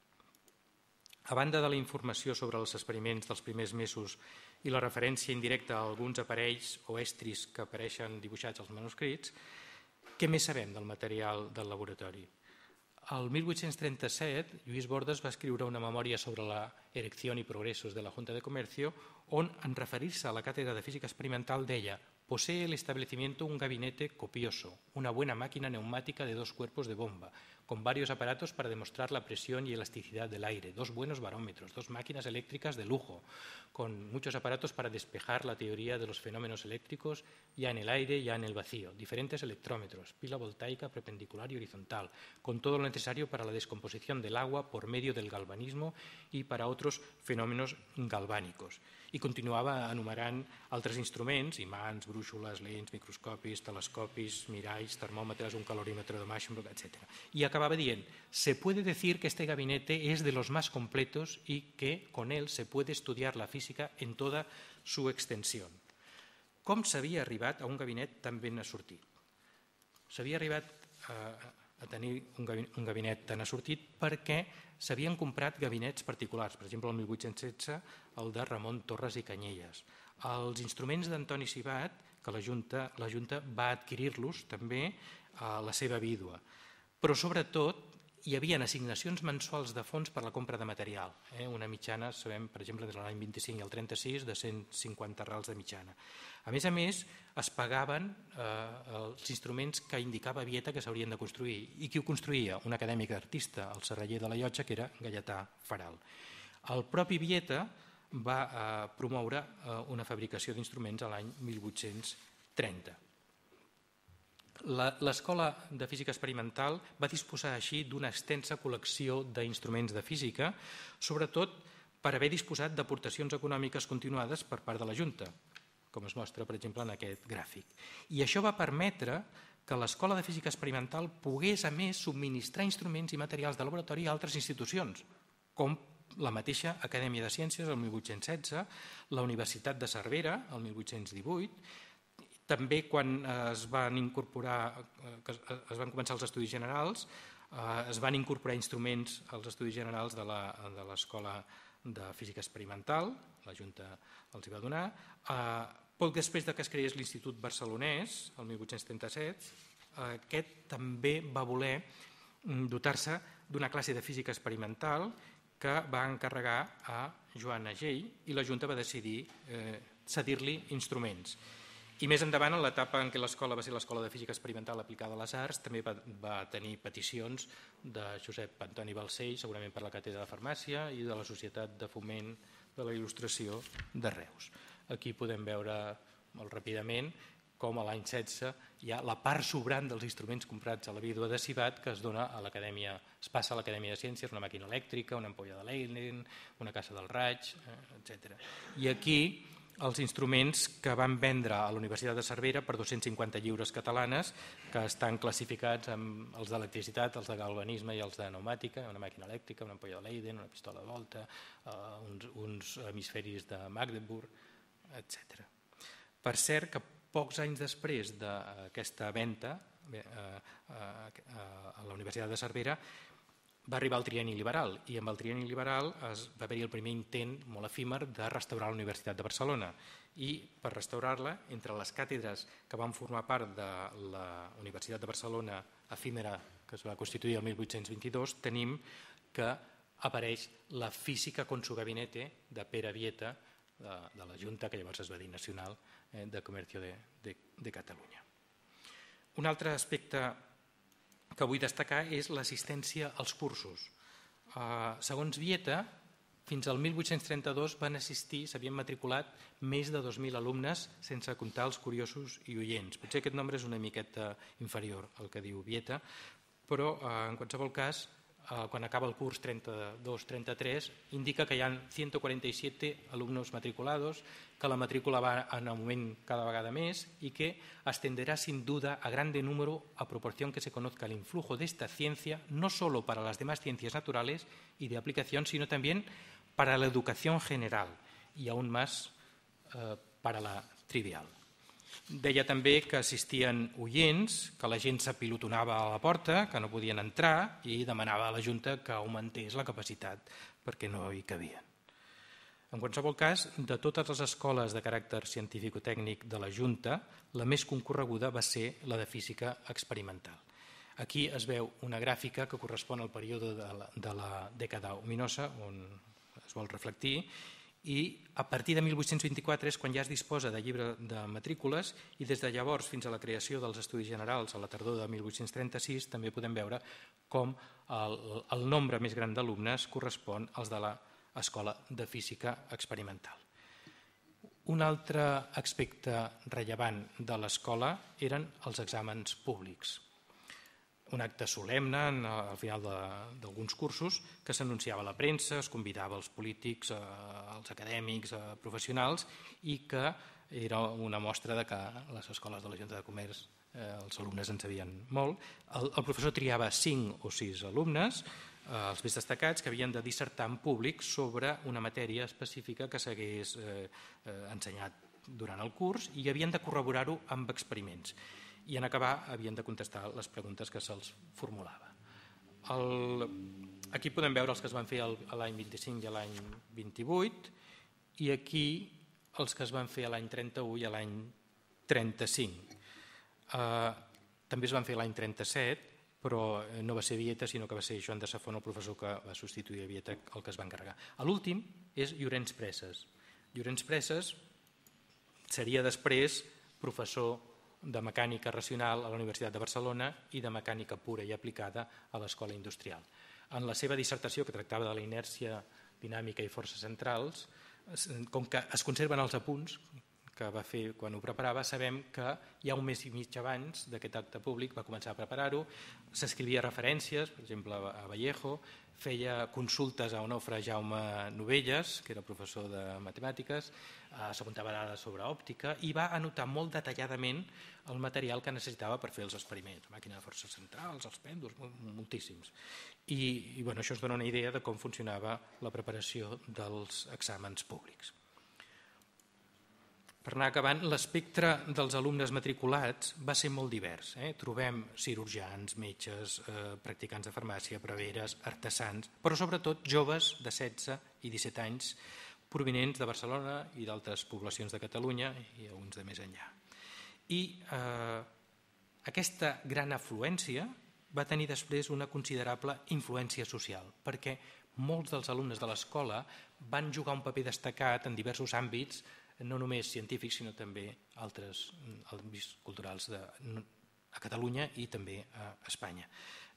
A banda de la informació sobre els experiments dels primers mesos i la referència indirecta a alguns aparells o estris que apareixen dibuixats als manuscrits, què més sabem del material del laboratori? El 1837, Lluís Bordes va escriure una memòria sobre la erección y progresos de la Junta de Comercio, on, en referir-se a la càtedra de física experimental, deia: posee el establecimiento un gabinete copioso, una buena máquina neumática de 2 cuerpos de bomba, con varios aparatos para demostrar la presión y elasticidad del aire, 2 buenos barómetros, 2 máquinas eléctricas de lujo, con muchos aparatos para despejar la teoría de los fenómenos eléctricos ya en el aire, ya en el vacío, diferentes electrómetros, pila voltaica perpendicular y horizontal, con todo lo necesario para la descomposición del agua por medio del galvanismo y para otros fenómenos galvànicos. I continuava enumerant altres instruments, imants, brúixoles, lents, microscopis, telescopis, miralls, termòmetres, un calorímetro de Maschenbroek, etc. Y acababa dient: se puede decir que este gabinete es de los más completos y que con él se puede estudiar la física en toda su extensión. Com s'havia arribat a un gabinet tan ben assortit? S'havia arribat a tenir un gabinet tan assortit perquè s'havien comprat gabinets particulars, per exemple el 1816 el de Ramon Torres i Canyelles. Els instruments d'Antoni Sibat, que la Junta va adquirir-los també a la seva vídua, però sobretot hi havia assignacions mensuals de fons per la compra de material, una mitjana, sabem, per exemple, de l'any 25 i el 36, de 150 rals de mitjana. A més, es pagaven els instruments que indicava Vieta que s'haurien de construir. I qui ho construïa? Un acadèmic artista, el serraller de la Llotja, que era Gaietà Faral. El propi Vieta va promoure una fabricació d'instruments a l'any 1830. L'Escola de Física Experimental va disposar així d'una extensa col·lecció d'instruments de física, sobretot per haver disposat d'aportacions econòmiques continuades per part de la Junta, com es mostra, per exemple, en aquest gràfic. I això va permetre que l'Escola de Física Experimental pogués, a més, subministrar instruments i materials de laboratori a altres institucions, com la mateixa Acadèmia de Ciències, el 1816, la Universitat de Cervera, el 1818, també quan es van començar els estudis generals, es van incorporar instruments als estudis generals de l'Escola de Física Experimental, la Junta els hi va donar. Poc després que es creés l'Institut Barcelonès, el 1837, aquest també va voler dotar-se d'una classe de física experimental que va encarregar a Joan Agell i la Junta va decidir cedir-li instruments. I més endavant, en l'etapa en què l'escola va ser l'Escola de Física Experimental aplicada a les arts, també va tenir peticions de Josep Antoni Balcells, segurament per la Càtedra de Farmàcia, i de la Societat de Foment de la Il·lustració de Reus. Aquí podem veure molt ràpidament com a l'any 16 hi ha la part sobrant dels instruments comprats a la vídua de Sibat que es dona a l'Acadèmia, es passa a l'Acadèmia de Ciències, una màquina elèctrica, una ampolla de Leiden, una caixa del raig, etc. I aquí els instruments que van vendre a la Universitat de Cervera per 250 lliures catalanes, que estan classificats amb els d'electricitat, els de galvanisme i els de pneumàtica, una màquina elèctrica, una ampolla de Leiden, una pistola de volta, uns hemisferis de Magdeburg, etc. Per cert, que pocs anys després d'aquesta venda a la Universitat de Cervera va arribar el trienni liberal i amb el trienni liberal va haver-hi el primer intent molt efímer de restaurar la Universitat de Barcelona i per restaurar-la, entre les càtedres que van formar part de la Universitat de Barcelona efímera que es va constituir el 1822, tenim que apareix la Física con su gabinete de Pere Vieta de la Junta, que llavors es va dir Nacional de Comercio de Catalunya. Un altre aspecte que vull destacar és l'assistència als cursos. Segons Vieta, fins al 1832 van assistir, s'havien matriculat més de 2.000 alumnes sense comptar els curiosos i oients. Potser aquest nombre és una miqueta inferior al que diu Vieta, però en qualsevol cas, quan acaba el curs 32-33, indica que hi ha 147 alumnos matriculados, que la matrícula va en augment cada vegada més y que ascenderá sin duda a grande número a proporción que se conozca el influjo de esta ciencia, no solo para las demás ciencias naturales y de aplicación, sino también para la educación general y aún más para la trivial. Deia també que assistien oients, que la gent s'apilotonava a la porta, que no podien entrar i demanava a la Junta que augmentés la capacitat perquè no hi cabien. En qualsevol cas, de totes les escoles de caràcter científic-tècnic de la Junta, la més concorreguda va ser la de física experimental. Aquí es veu una gràfica que correspon al període de la dècada ominosa, on es vol reflectir, i a partir de 1824 és quan ja es disposa de llibre de matrícules i des de llavors fins a la creació dels Estudis Generals a la tardor de 1836 també podem veure com el nombre més gran d'alumnes correspon als de l'Escola de Física Experimental. Un altre aspecte rellevant de l'escola eren els exàmens públics. Un acte solemne al final d'alguns cursos que s'anunciava a la premsa, es convidava els polítics, els acadèmics, professionals i que era una mostra de que les escoles de la Junta de Comerç els alumnes en sabien molt. El professor triava 5 o 6 alumnes, els més destacats, que havien de dissertar en públic sobre una matèria específica que s'hagués ensenyat durant el curs i havien de corroborar-ho amb experiments. I en acabar havien de contestar les preguntes que se'ls formulava. Aquí podem veure els que es van fer l'any 25 i l'any 28 i aquí els que es van fer l'any 31 i l'any 35. També es van fer l'any 37, però no va ser Vieta, sinó que va ser Joan de Safon, el professor que va substituir a Vieta, el que es va encarregar. L'últim és Llorenç Presses. Llorenç Presses seria després professor de mecànica racional a la Universitat de Barcelona i de mecànica pura i aplicada a l'Escola Industrial. En la seva dissertació, que tractava de la inèrcia dinàmica i forces centrals, com que es conserven els apunts que va fer quan ho preparava, sabem que ja un mes i mig abans d'aquest acte públic va començar a preparar-ho, s'escrivia referències, per exemple a Vallejo, feia consultes a Onofre Jaume Novelles, que era professor de matemàtiques, s'apuntava dades sobre òptica i va anotar molt detalladament el material que necessitava per fer els experiments, la màquina de forces centrals, els pèndols, moltíssims. I això ens dona una idea de com funcionava la preparació dels exàmens públics. Per anar acabant, l'espectre dels alumnes matriculats va ser molt divers. Trobem cirurgians, metges, practicants de farmàcia, preveres, artesans, però sobretot joves de 16 i 17 anys provinents de Barcelona i d'altres poblacions de Catalunya i alguns de més enllà. I aquesta gran afluència va tenir després una considerable influència social, perquè molts dels alumnes de l'escola van jugar un paper destacat en diversos àmbits, no només científics, sinó també altres àmbits culturals a Catalunya i també a Espanya.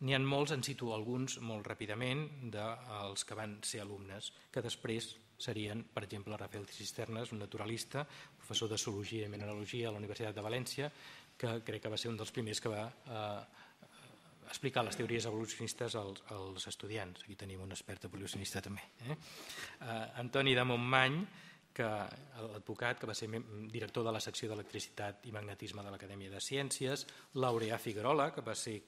N'hi ha molts, en cito alguns molt ràpidament, dels que van ser alumnes, que després serien, per exemple, Rafael Cisternas, un naturalista, professor de zoologia i mineralogia a la Universitat de València, que crec que va ser un dels primers que va explicar les teories evolucionistes als estudiants. Aquí tenim un expert evolucionista també. Antoni de Montmany, l'advocat, que va ser director de la secció d'electricitat i magnetisme de l'Acadèmia de Ciències, Laureà Figuerola, que va ser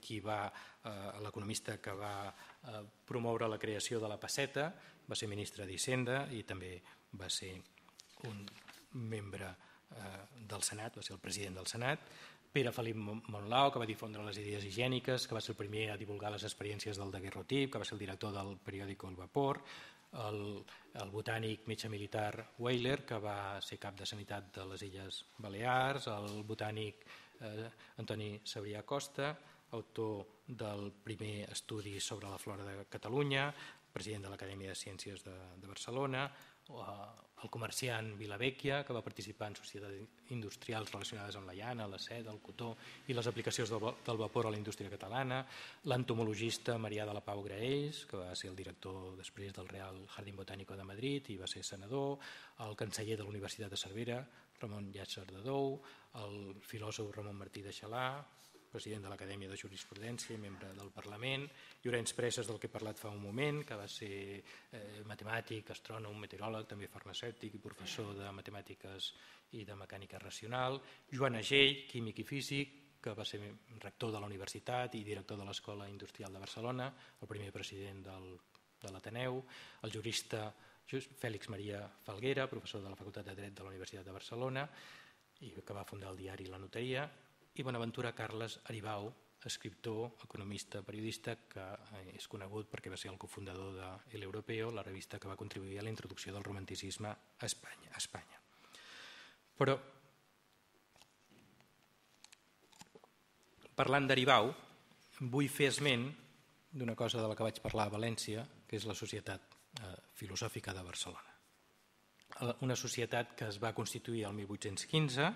l'economista que va promoure la creació de la pesseta, va ser ministre d'Hisenda i també va ser un membre del Senat, va ser el president del Senat, Pere Felip Monlau, que va difondre les idees higièniques, que va ser el primer a divulgar les experiències del daguerrotip, que va ser el director del periòdico El Vapor, el botànic metge militar Weyler, que va ser cap de sanitat de les Illes Balears, el botànic Antoni Sabrià Costa, autor del primer estudi sobre la flora de Catalunya, president de l'Acadèmia de Ciències de Barcelona, el comerciant Vilavecchia, que va participar en societats industrials relacionades amb la llana, la seda, el cotó i les aplicacions del vapor a la indústria catalana, l'entomologista Marià de la Pau Graells, que va ser el director després del Real Jardín Botánico de Madrid i va ser senador, el canceller de la Universitat de Cervera, Ramon Llàtzer de Dou, el filòsof Ramon Martí de Xalà, president de l'Acadèmia de Jurisprudència i membre del Parlament, Llorenç Presses, del que he parlat fa un moment, que va ser matemàtic, astrònom, meteoròleg, també farmacèutic i professor de matemàtiques i de mecànica racional, Joan Agell, químic i físic, que va ser rector de la universitat i director de l'Escola Industrial de Barcelona, el primer president de l'Ateneu, el jurista Fèlix Maria Falguera, professor de la Facultat de Dret de la Universitat de Barcelona i que va fundar el diari La Notaria, i Bonaventura Carles Aribau, escriptor, economista, periodista, que és conegut perquè va ser el cofundador de El Europeo, la revista que va contribuir a la introducció del romanticisme a Espanya. Però, parlant d'Aribau, vull fer esment d'una cosa de la que vaig parlar a València, que és la Societat Filosòfica de Barcelona. Una societat que es va constituir el 1815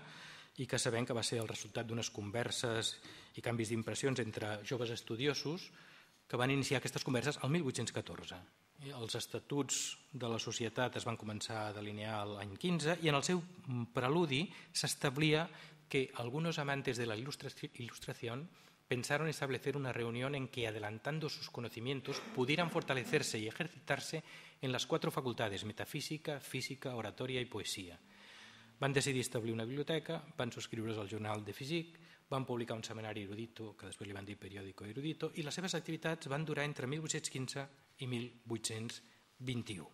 i que sabem que va ser el resultat d'unes converses i canvis d'impressions entre joves estudiosos que van iniciar aquestes converses el 1814. Els estatuts de la societat es van començar a delinear l'any 15 i en el seu preludi s'establia que algunos amantes de la ilustración pensaron establecer una reunión en que, adelantando sus conocimientos, pudieran fortalecerse y ejercitarse en las 4 facultades: metafísica, física, oratoria y poesía. Van decidir establir una biblioteca, van subscriure's al Journal de Physique, van publicar un setmanari erudito, que després li van dir periòdico erudito, i les seves activitats van durar entre 1815 i 1821.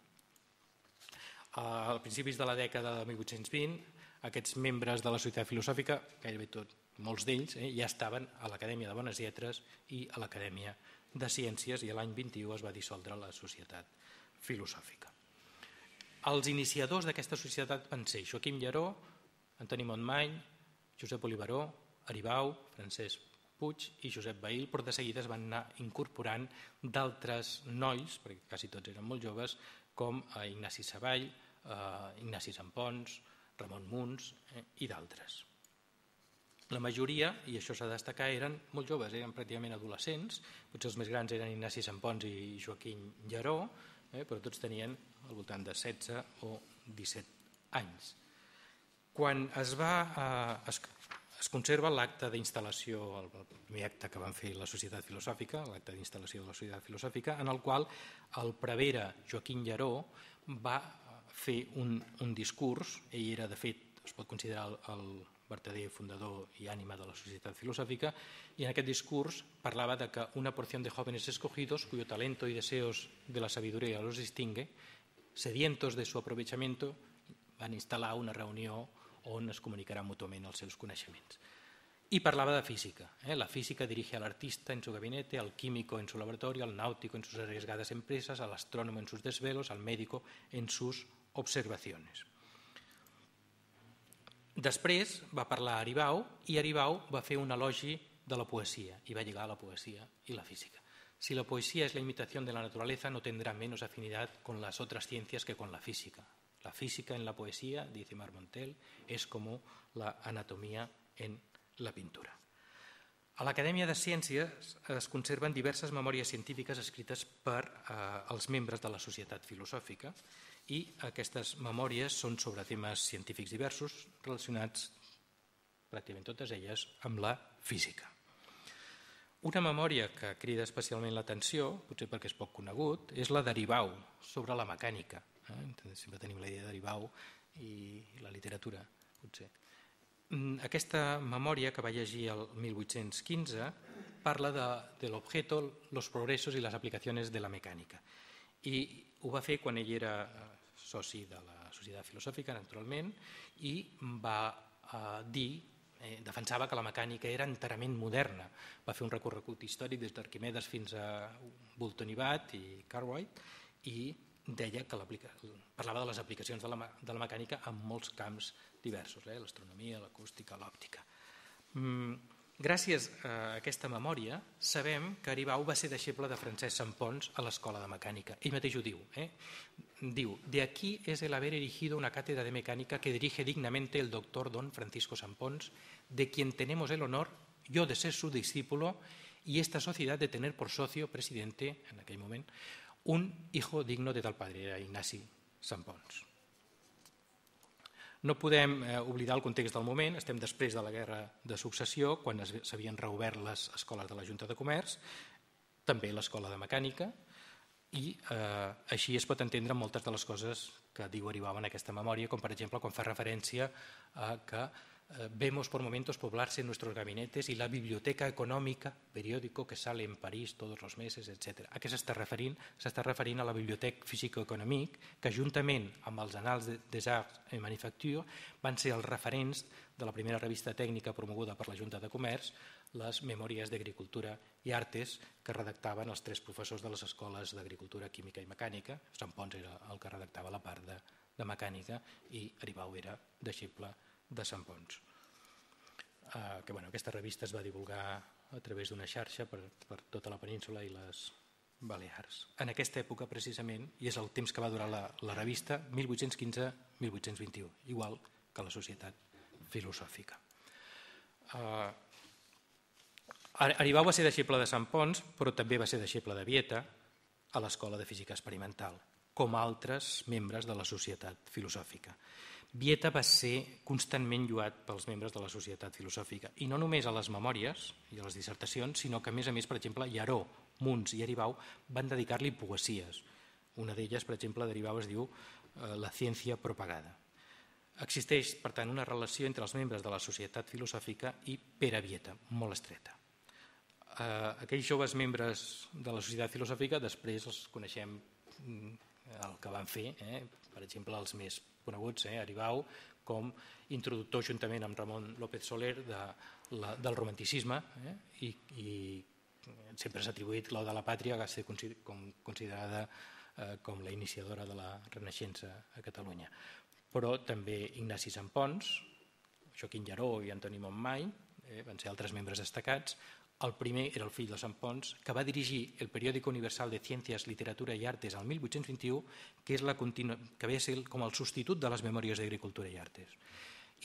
A principis de la dècada de 1820, aquests membres de la Societat Filosòfica, gairebé molts d'ells, ja estaven a l'Acadèmia de Bones Lletres i a l'Acadèmia de Ciències, i l'any 21 es va dissoldre la Societat Filosòfica. Els iniciadors d'aquesta societat van ser Joaquim Llaró, Antoni Montmany, Josep Oliveró, Aribau, Francesc Puig i Josep Bahil, però de seguida es van anar incorporant d'altres nois, perquè quasi tots eren molt joves, com Ignasi Savall, Ignasi Sampons, Ramon Muns i d'altres. La majoria, i això s'ha de destacar, eren molt joves, eren pràcticament adolescents, potser els més grans eren Ignasi Sampons i Joaquim Llaró, però tots tenien al voltant de 16 o 17 anys. Quan es conserva l'acte d'instal·lació, el primer acte que van fer la Societat Filosòfica, l'acte d'instal·lació de la Societat Filosòfica, en el qual el prevere Joaquim Llaró va fer un discurs. Ell era, de fet, es pot considerar el verdader fundador i ànima de la Societat Filosòfica, y en aquest discurs parlava de que una porción de jóvenes escogidos, cuyo talento y deseos de la sabiduría los distingue, sedientos de su aprovechamiento, van instal·lar una reunió on es comunicaran mútuament els seus coneixements. Y parlava de física. La física dirige al artista en su gabinete, al químico en su laboratorio, al náutico en sus arriesgadas empresas, al astrónomo en sus desvelos, al médico en sus observaciones. Després va parlar Aribau, i Aribau va fer un elogi de la poesía y va lligar la poesía y la física. Si la poesía es la imitación de la naturaleza, no tendrá menos afinidad con las otras ciencias que con la física. La física en la poesía, dice Marmontel, es como la anatomía en la pintura. A l'Acadèmia de Ciències es conserven diverses memòries científiques escrites per els membres de la Societat Filosòfica, i aquestes memòries són sobre temes científics diversos relacionats, pràcticament totes elles, amb la física. Una memòria que crida especialment l'atenció, potser perquè és poc conegut, és la d'Aribau, sobre la mecànica. Sempre tenim la idea d'Aribau i la literatura, potser. Aquesta memòria, que va llegir el 1815, parla de l'objeto, los progresos y las aplicaciones de la mecànica. I ho va fer quan ell era soci de la Societat Filosòfica, naturalment, i va dir, defensava que la mecànica era enterament moderna. Va fer un recorregut històric des d'Arquimedes fins a Boulton i Watt i Cartwright, i deia que parlava de les aplicacions de la mecànica en molts camps diversos, l'astronomia, l'acústica, l'òptica. Gràcies a aquesta memòria sabem que Aribau va ser deixeble de Francesc Sampons a l'Escola de Mecànica. Ell mateix ho diu. Diu: de aquí es el haber erigido una cátedra de mecánica que dirige dignamente el doctor don Francisco Sampons, de quien tenemos el honor, yo de ser su discípulo, y esta sociedad de tener por socio, presidente, en aquell moment, un hijo digno de tal padre, era Ignasi Sampons. No podem oblidar el context del moment. Estem després de la Guerra de Successió, quan s'havien reobert les escoles de la Junta de Comerç, també l'Escola de Mecànica, i així es pot entendre moltes de les coses que diu Aribau en aquesta memòria, com per exemple quan fa referència a que vemos por momentos poblarse nuestros gabinetes y la biblioteca económica, periódico que sale en París todos los meses, etc. A què s'està referint? S'està referint a la Bibliothèque Physico-Économique, que juntament amb els Annals des Arts et Manufactures van ser els referents de la primera revista tècnica promoguda per la Junta de Comerç, les Memòries d'Agricultura i Artes, que redactaven els 3 professors de les escoles d'Agricultura, Química i Mecànica. Sampons era el que redactava la part de Mecànica i Aribau era deixeble de Sampons. Aquesta revista es va divulgar a través d'una xarxa per tota la península i les Balears. En aquesta època, precisament, i és el temps que va durar la revista, 1815-1821, igual que la Societat Filosòfica. Aribau va ser deixeble de Sant Ponç, però també va ser deixeble de Vieta a l'Escola de Física Experimental, com altres membres de la Societat Filosòfica. Vieta va ser constantment lloat pels membres de la Societat Filosòfica, i no només a les memòries i a les dissertacions, sinó que, a més, per exemple, Llaró, Muns i Aribau van dedicar-li poesies. Una d'elles, per exemple, d'Aribau es diu La ciència propagada. Existeix, per tant, una relació entre els membres de la Societat Filosòfica i Pere Vieta, molt estreta. Aquells joves membres de la Societat Filosòfica després els coneixem el que van fer, per exemple, els més coneguts, Aribau, com introductor juntament amb Ramon López Soler del romanticisme, i sempre s'ha atribuït l'Ode a la Pàtria, que va ser considerada com la iniciadora de la Renaixença a Catalunya. Però també Ignasi Santpons, Joaquim Llaró i Antoni Montmany van ser altres membres destacats. El primer era el fill de Santpons, que va dirigir el Periódico Universal de Ciencias, Literatura i Artes al 1821, que ve a ser com el substitut de les Memòries d'Agricultura i Artes.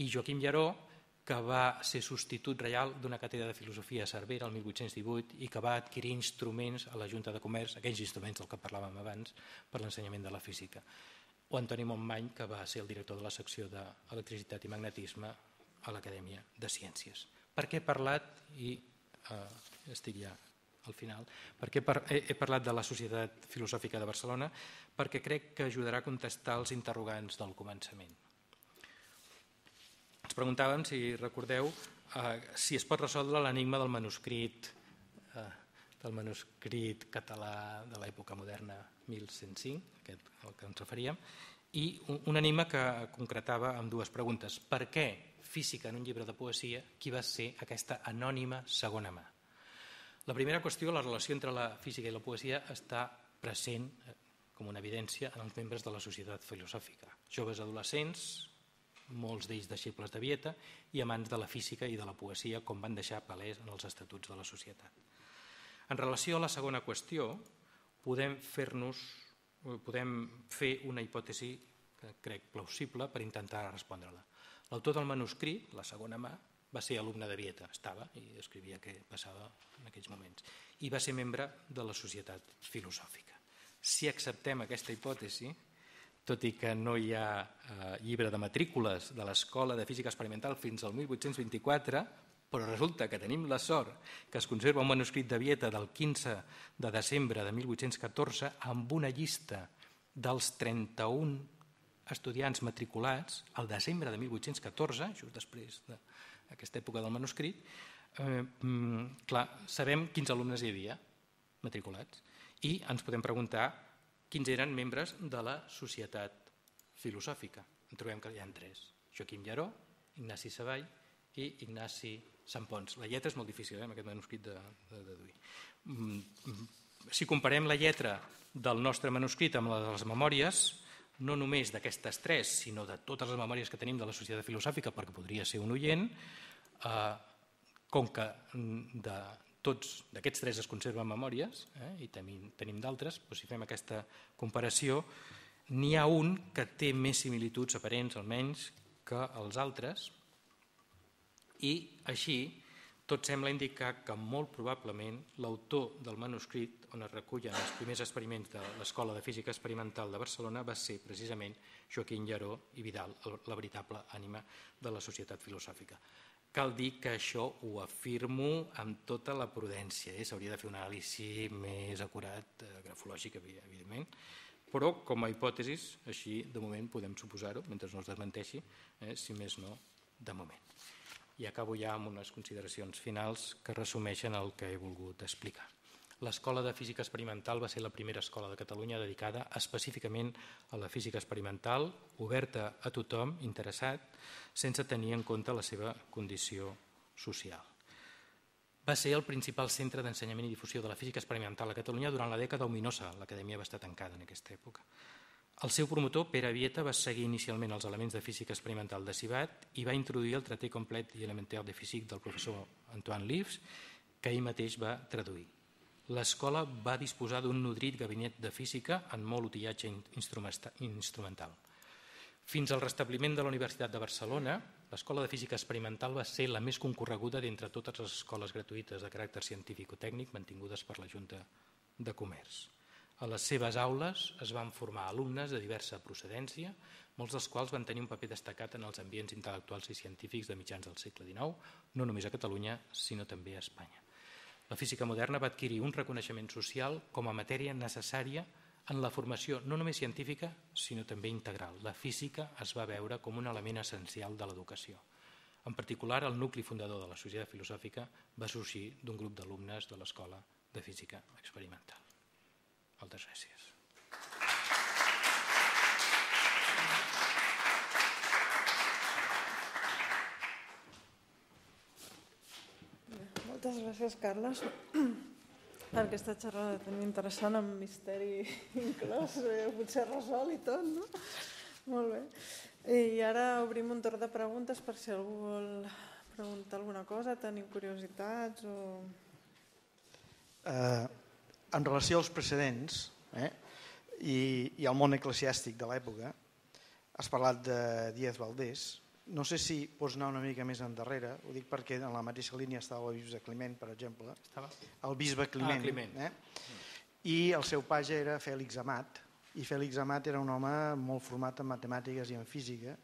I Joaquim Llaró, que va ser substitut reial d'una càtedra de filosofia a Cervera el 1818 i que va adquirir instruments a la Junta de Comerç, aquells instruments del que parlàvem abans, per l'ensenyament de la física. O Antoni Montmany, que va ser el director de la secció d'Electricitat i Magnetisme a l'Acadèmia de Ciències. Per què he parlat, i estic ja al final, perquè he parlat de la Societat Filosòfica de Barcelona? Perquè crec que ajudarà a contestar els interrogants del començament. Ens preguntàvem, si recordeu, si es pot resoldre l'enigma del manuscrit català de l'època moderna 1105, al que ens referíem, i un enigma que concretava amb dues preguntes. Per què física en un llibre de poesia? Qui va ser aquesta anònima segona mà? La primera qüestió, la relació entre la física i la poesia, està present com una evidència en els membres de la Societat Filosòfica. Joves adolescents, molts d'ells deixebles de Vieta, i amants de la física i de la poesia, com van deixar palès en els estatuts de la societat. En relació a la segona qüestió, podem fer una hipòtesi que crec plausible per intentar respondre-la. L'autor del manuscrit, la segona mà, va ser alumne de Vieta, estava i escrivia què passava en aquells moments, i va ser membre de la Societat Filosòfica. Si acceptem aquesta hipòtesi, tot i que no hi ha llibre de matrícules de l'Escola de Física Experimental fins al 1824, però resulta que tenim la sort que es conserva un manuscrit de Vieta del 15 de desembre de 1814 amb una llista dels 31 estudiants matriculats al desembre de 1814, just després d'aquesta època del manuscrit. Clar, sabem quins alumnes hi havia matriculats i ens podem preguntar quins eren membres de la Societat Filosòfica. En trobem que hi ha tres: Joaquim Llaró, Ignasi Savall i Ignasi Santpons. La lletra és molt difícil, amb aquest manuscrit de deduir. Si comparem la lletra del nostre manuscrit amb la de les memòries, no només d'aquestes tres, sinó de totes les memòries que tenim de la Societat Filosòfica, perquè podria ser un oient, com que d'aquests tres es conserven memòries, i tenim d'altres, doncs si fem aquesta comparació, n'hi ha un que té més similituds aparents, almenys, que els altres, i així tot sembla indicar que molt probablement l'autor del manuscrit on es recullen els primers experiments de l'Escola de Física Experimental de Barcelona va ser precisament Joaquim Llaró i Vidal, la veritable ànima de la Societat Filosòfica. Cal dir que això ho afirmo amb tota la prudència. S'hauria de fer un anàlisi més acurat, grafològic, evidentment, però com a hipòtesis, així de moment podem suposar-ho, mentre no es desmenteixi, si més no, de moment. I acabo ja amb unes consideracions finals que resumeixen el que he volgut explicar. L'Escola de Física Experimental va ser la primera escola de Catalunya dedicada específicament a la física experimental, oberta a tothom interessat, sense tenir en compte la seva condició social. Va ser el principal centre d'ensenyament i difusió de la física experimental a Catalunya durant la dècada ominosa. L'Acadèmia va estar tancada en aquesta època. El seu promotor, Pere Vieta, va seguir inicialment els elements de física experimental de Civat i va introduir el traité complet i elementaire de físic del professor Antoine Livres, que ell mateix va traduir. L'escola va disposar d'un nodrit gabinet de física en molt utillatge instrumental. Fins al restabliment de la Universitat de Barcelona, l'Escola de Física Experimental va ser la més concorreguda d'entre totes les escoles gratuïtes de caràcter científic o tècnic mantingudes per la Junta de Comerç. A les seves aules es van formar alumnes de diversa procedència, molts dels quals van tenir un paper destacat en els ambients intel·lectuals i científics de mitjans del segle XIX, no només a Catalunya, sinó també a Espanya. La física moderna va adquirir un reconeixement social com a matèria necessària en la formació no només científica, sinó també integral. La física es va veure com un element essencial de l'educació. En particular, el nucli fundador de la Societat Filosòfica va sorgir d'un grup d'alumnes de l'Escola de Física Experimental. Moltes gràcies. Moltes gràcies, Carles, per aquesta xerrada tan interessant, amb misteri inclòs, potser resol i tot, no? Molt bé. I ara obrim un torn de preguntes per si algú vol preguntar alguna cosa, tenim curiositats o... En relació als precedents i al món eclesiàstic de l'època, has parlat de Díaz Valdés. No sé si pots anar una mica més endarrere, ho dic perquè en la mateixa línia estava el bisbe Climent, per exemple. El bisbe Climent. I el seu page era Fèlix Amat, i Fèlix Amat era un home molt format en matemàtiques i en física,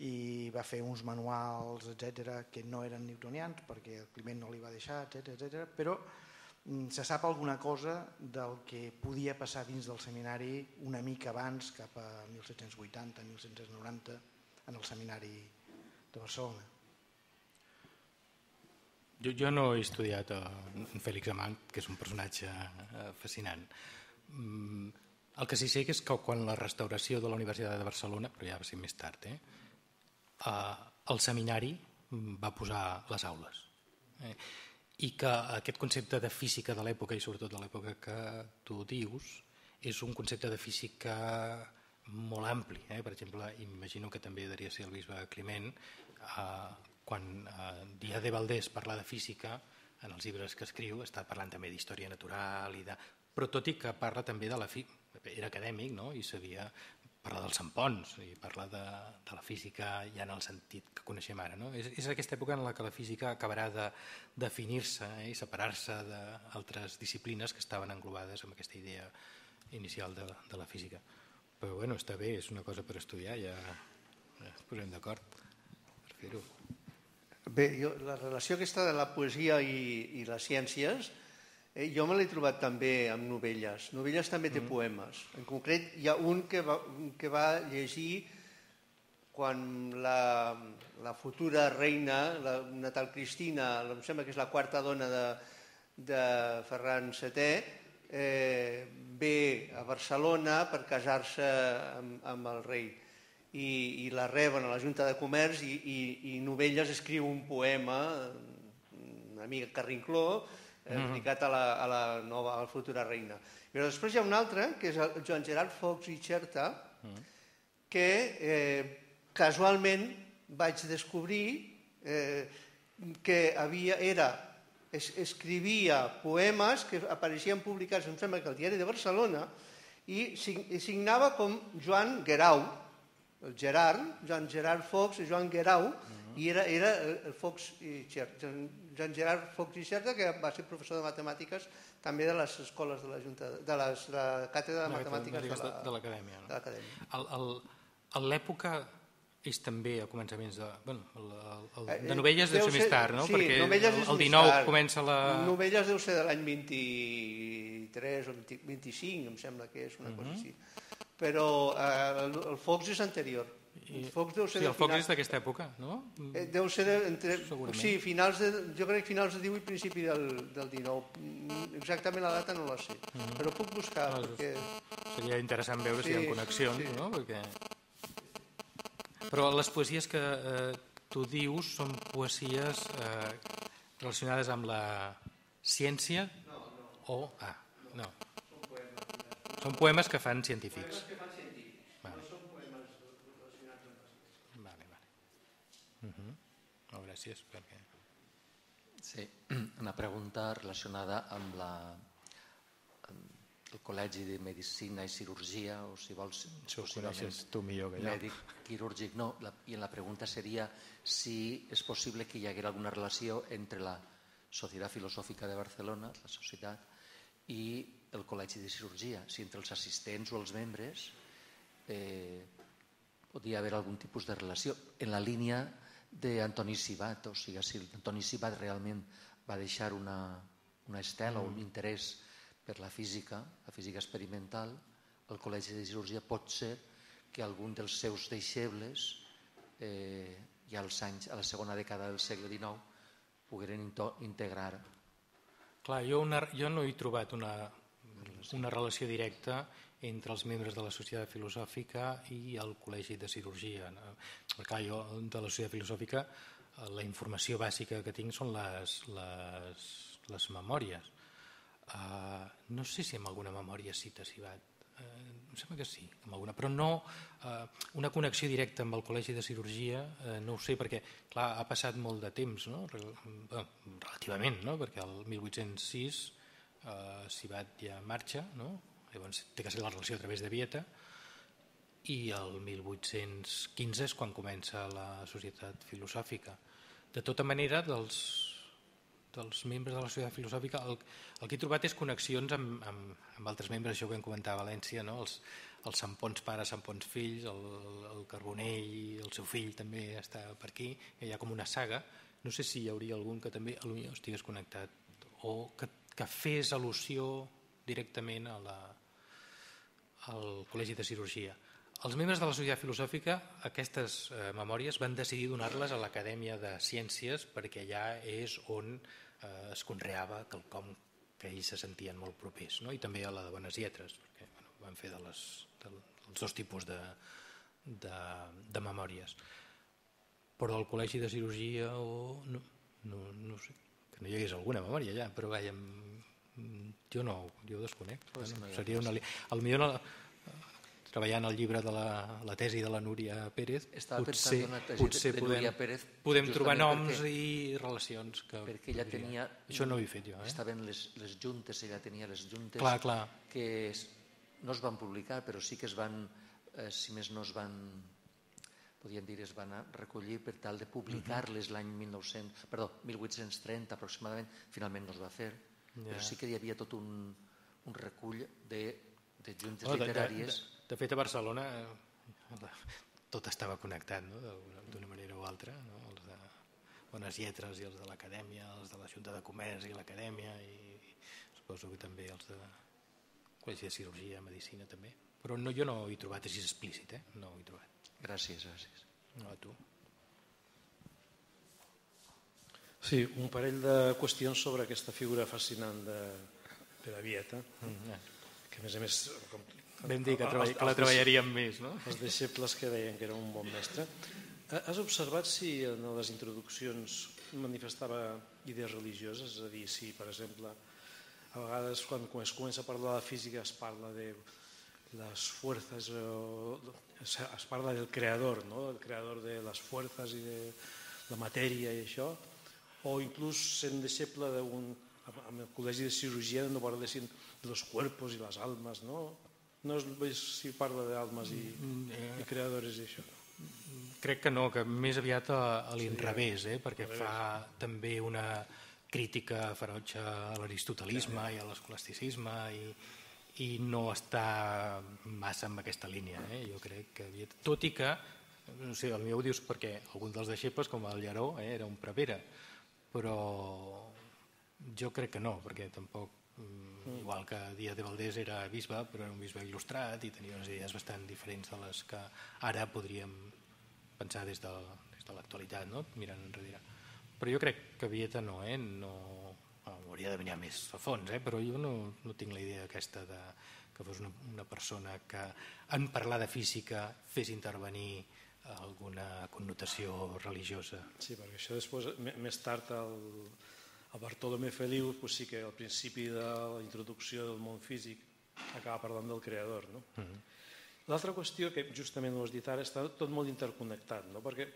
i va fer uns manuals, etc., que no eren newtonians, perquè el Climent no li va deixar, etc. Però se sap alguna cosa del que podia passar dins del seminari una mica abans, cap a 1780, 1790, en el seminari de Barcelona. Jo no he estudiat en Fèlix Amat, que és un personatge fascinant. El que sí sé és que quan la restauració de la Universitat de Barcelona, però ja va ser més tard, el seminari va posar les aules. I que aquest concepte de física de l'època, i sobretot de l'època que tu dius, és un concepte de física molt ampli. Per exemple, imagino que també devia ser el bisbe Climent, quan Díaz de Valdés parla de física, en els llibres que escriu està parlant també d'història natural, però tot i que parla també de la física, era acadèmic, no? I sabia parlar dels sampons, i parla de la física ja en el sentit que coneixem ara. No? És aquesta època en la que la física acabarà de definir-se i separar-se d'altres disciplines que estaven englobades amb aquesta idea inicial de la física. Però bueno, està bé, és una cosa per estudiar, ja ens posem d'acord per fer-ho. Bé, la relació aquesta de la poesia i les ciències, jo me l'he trobat també amb Novelles. Novelles també té poemes. En concret, hi ha un que va llegir quan la futura reina, una tal Cristina, em sembla que és la quarta dona de Ferran VII, ve a Barcelona per casar-se amb el rei i la reben a la Junta de Comerç i Novelles escriu un poema una mica carrincló dedicat a la futura reina. Però després hi ha un altre, que és el Joan Gerard Fox i Xerta, que casualment vaig descobrir que escrivia poemes que apareixien publicats, em sembla que al Diari de Barcelona, i signava com Joan Guerau, el Gerard, Joan Gerard Fox i Joan Guerau, i era el Fox i Xerta, Joan Gerard Fox i Xerta, que va ser professor de matemàtiques també de les escoles de la Junta, de la càtedra de matemàtiques de l'Acadèmia. A l'època és també a començaments de Novelles deu ser més tard, no? Sí, perquè Novelles és el més 19 tard. comença la... Novelles deu ser de l'any 23 o 25, em sembla que és una cosa així. Però el Fox és anterior. El Fox és d'aquesta època, no? Deu ser sí, jo crec que finals del 18 i principi del 19. Exactament la data no la sé, però puc buscar. Seria interessant veure si hi ha connexions, no? Però les poesies que tu dius són poesies relacionades amb la ciència? No. No. Són poemes que fan científics. Gràcies. Sí, una pregunta relacionada amb el Col·legi de Medicina i Cirurgia, o si vols, Això ho coneixes tu millor que jo. mèdic quirúrgic, no. I la pregunta seria si és possible que hi haguera alguna relació entre la Societat Filosòfica de Barcelona, la societat, i el Col·legi de Cirurgia, si entre els assistents o els membres podria haver algun tipus de relació en la línia d'Antoni Sibat, o sigui, si Antoni Sibat realment va deixar una estela o un interès per la física experimental, el Col·legi de Cirurgia pot ser que algun dels seus deixebles ja als anys, a la segona dècada del segle XIX, pogueren integrar. Clar, jo no he trobat una relació directa entre els membres de la Societat Filosòfica i el Col·legi de Cirurgia. Clar, jo de la Societat Filosòfica la informació bàsica que tinc són les memòries. No sé si amb alguna memòria cita Sibat, em sembla que sí, amb alguna, però no una connexió directa amb el Col·legi de Cirurgia, no ho sé, perquè clar, ha passat molt de temps, no? Relativament, no? Perquè el 1806 Sibat ja marxa, no? Llavors té que ser la relació a través de Vieta, i el 1815 és quan comença la Societat Filosòfica. De tota manera, dels membres de la Societat Filosòfica, el que he trobat és connexions amb altres membres, això que vam comentar a València, no? Els Sampons pares, Sampons fills, el Carbonell i el seu fill també està per aquí, hi ha com una saga. No sé si hi hauria algun que també potser estigués connectat o que fes al·lusió directament al Col·legi de Cirurgia. Els membres de la Societat Filosòfica aquestes memòries van decidir donar-les a l'Acadèmia de Ciències perquè allà és on es conreava quelcom que ells se sentien molt propers, no? I també a la de Bones Lletres, perquè van fer dels dos tipus de memòries. Però el Col·legi de Cirurgia no sé, que no hi hagués alguna memòria allà, però jo desconec. Seria potser treballant al llibre de la tesi de la Núria Pérez, potser podem trobar noms i relacions. Perquè ella tenia... Això no ho he fet jo. Estaven les juntes, ella tenia les juntes que no es van publicar, però sí que es van, si més no es van, podríem dir, es van recollir per tal de publicar-les l'any 1830 aproximadament, finalment no es va fer, però sí que hi havia tot un recull de juntes literàries. De fet, a Barcelona tot estava connectat, no? D'una manera o altra, no? Els de Bones Lletres i els de l'Acadèmia, els de la Junta de Comerç i l'Acadèmia, i suposo que també els de Col·legi de Cirurgia, Medicina també. Però jo no ho he trobat així explícit, no ho he trobat. Gràcies. No, a tu. Sí, un parell de qüestions sobre aquesta figura fascinant de Pere Vieta, que a més, vam dir que la treballaríem més, no? Els deixebles que deien que era un bon mestre. Has observat si en les introduccions manifestava idees religioses? És a dir, si, per exemple, a vegades quan es comença a parlar de física es parla de les fuerzas, es parla del creador, no? El creador de les fuerzas i de la matèria i això, o inclús sent deixeble amb el Col·legi de Cirurgia no parlessin de los cuerpos i les almas, no? No veig si parla d'almes i creadores i això. Crec que no, que més aviat a l'inrevés, perquè fa també una crítica ferotge a l'aristotelisme i a l'escolasticisme i no està massa en aquesta línia. Jo crec que, tot i que, no sé, potser ho dius perquè algun dels deixebles, com el Llaró, era un prevere, però jo crec que no, perquè tampoc, igual que Díaz de Valdés era bisbe, però era un bisbe il·lustrat i tenia unes idees bastant diferents de les que ara podríem pensar des de l'actualitat, mirant enrere. Però jo crec que Vieta no, hauria de venir més a fons, però jo no tinc la idea aquesta que fos una persona que en parlar de física fes intervenir alguna connotació religiosa. Sí, perquè això després, més tard, el Bartolomé Feliu sí que al principi de la introducció del món físic acaba parlant del creador. L'altra qüestió, que justament ho has dit ara, està tot molt interconnectat, perquè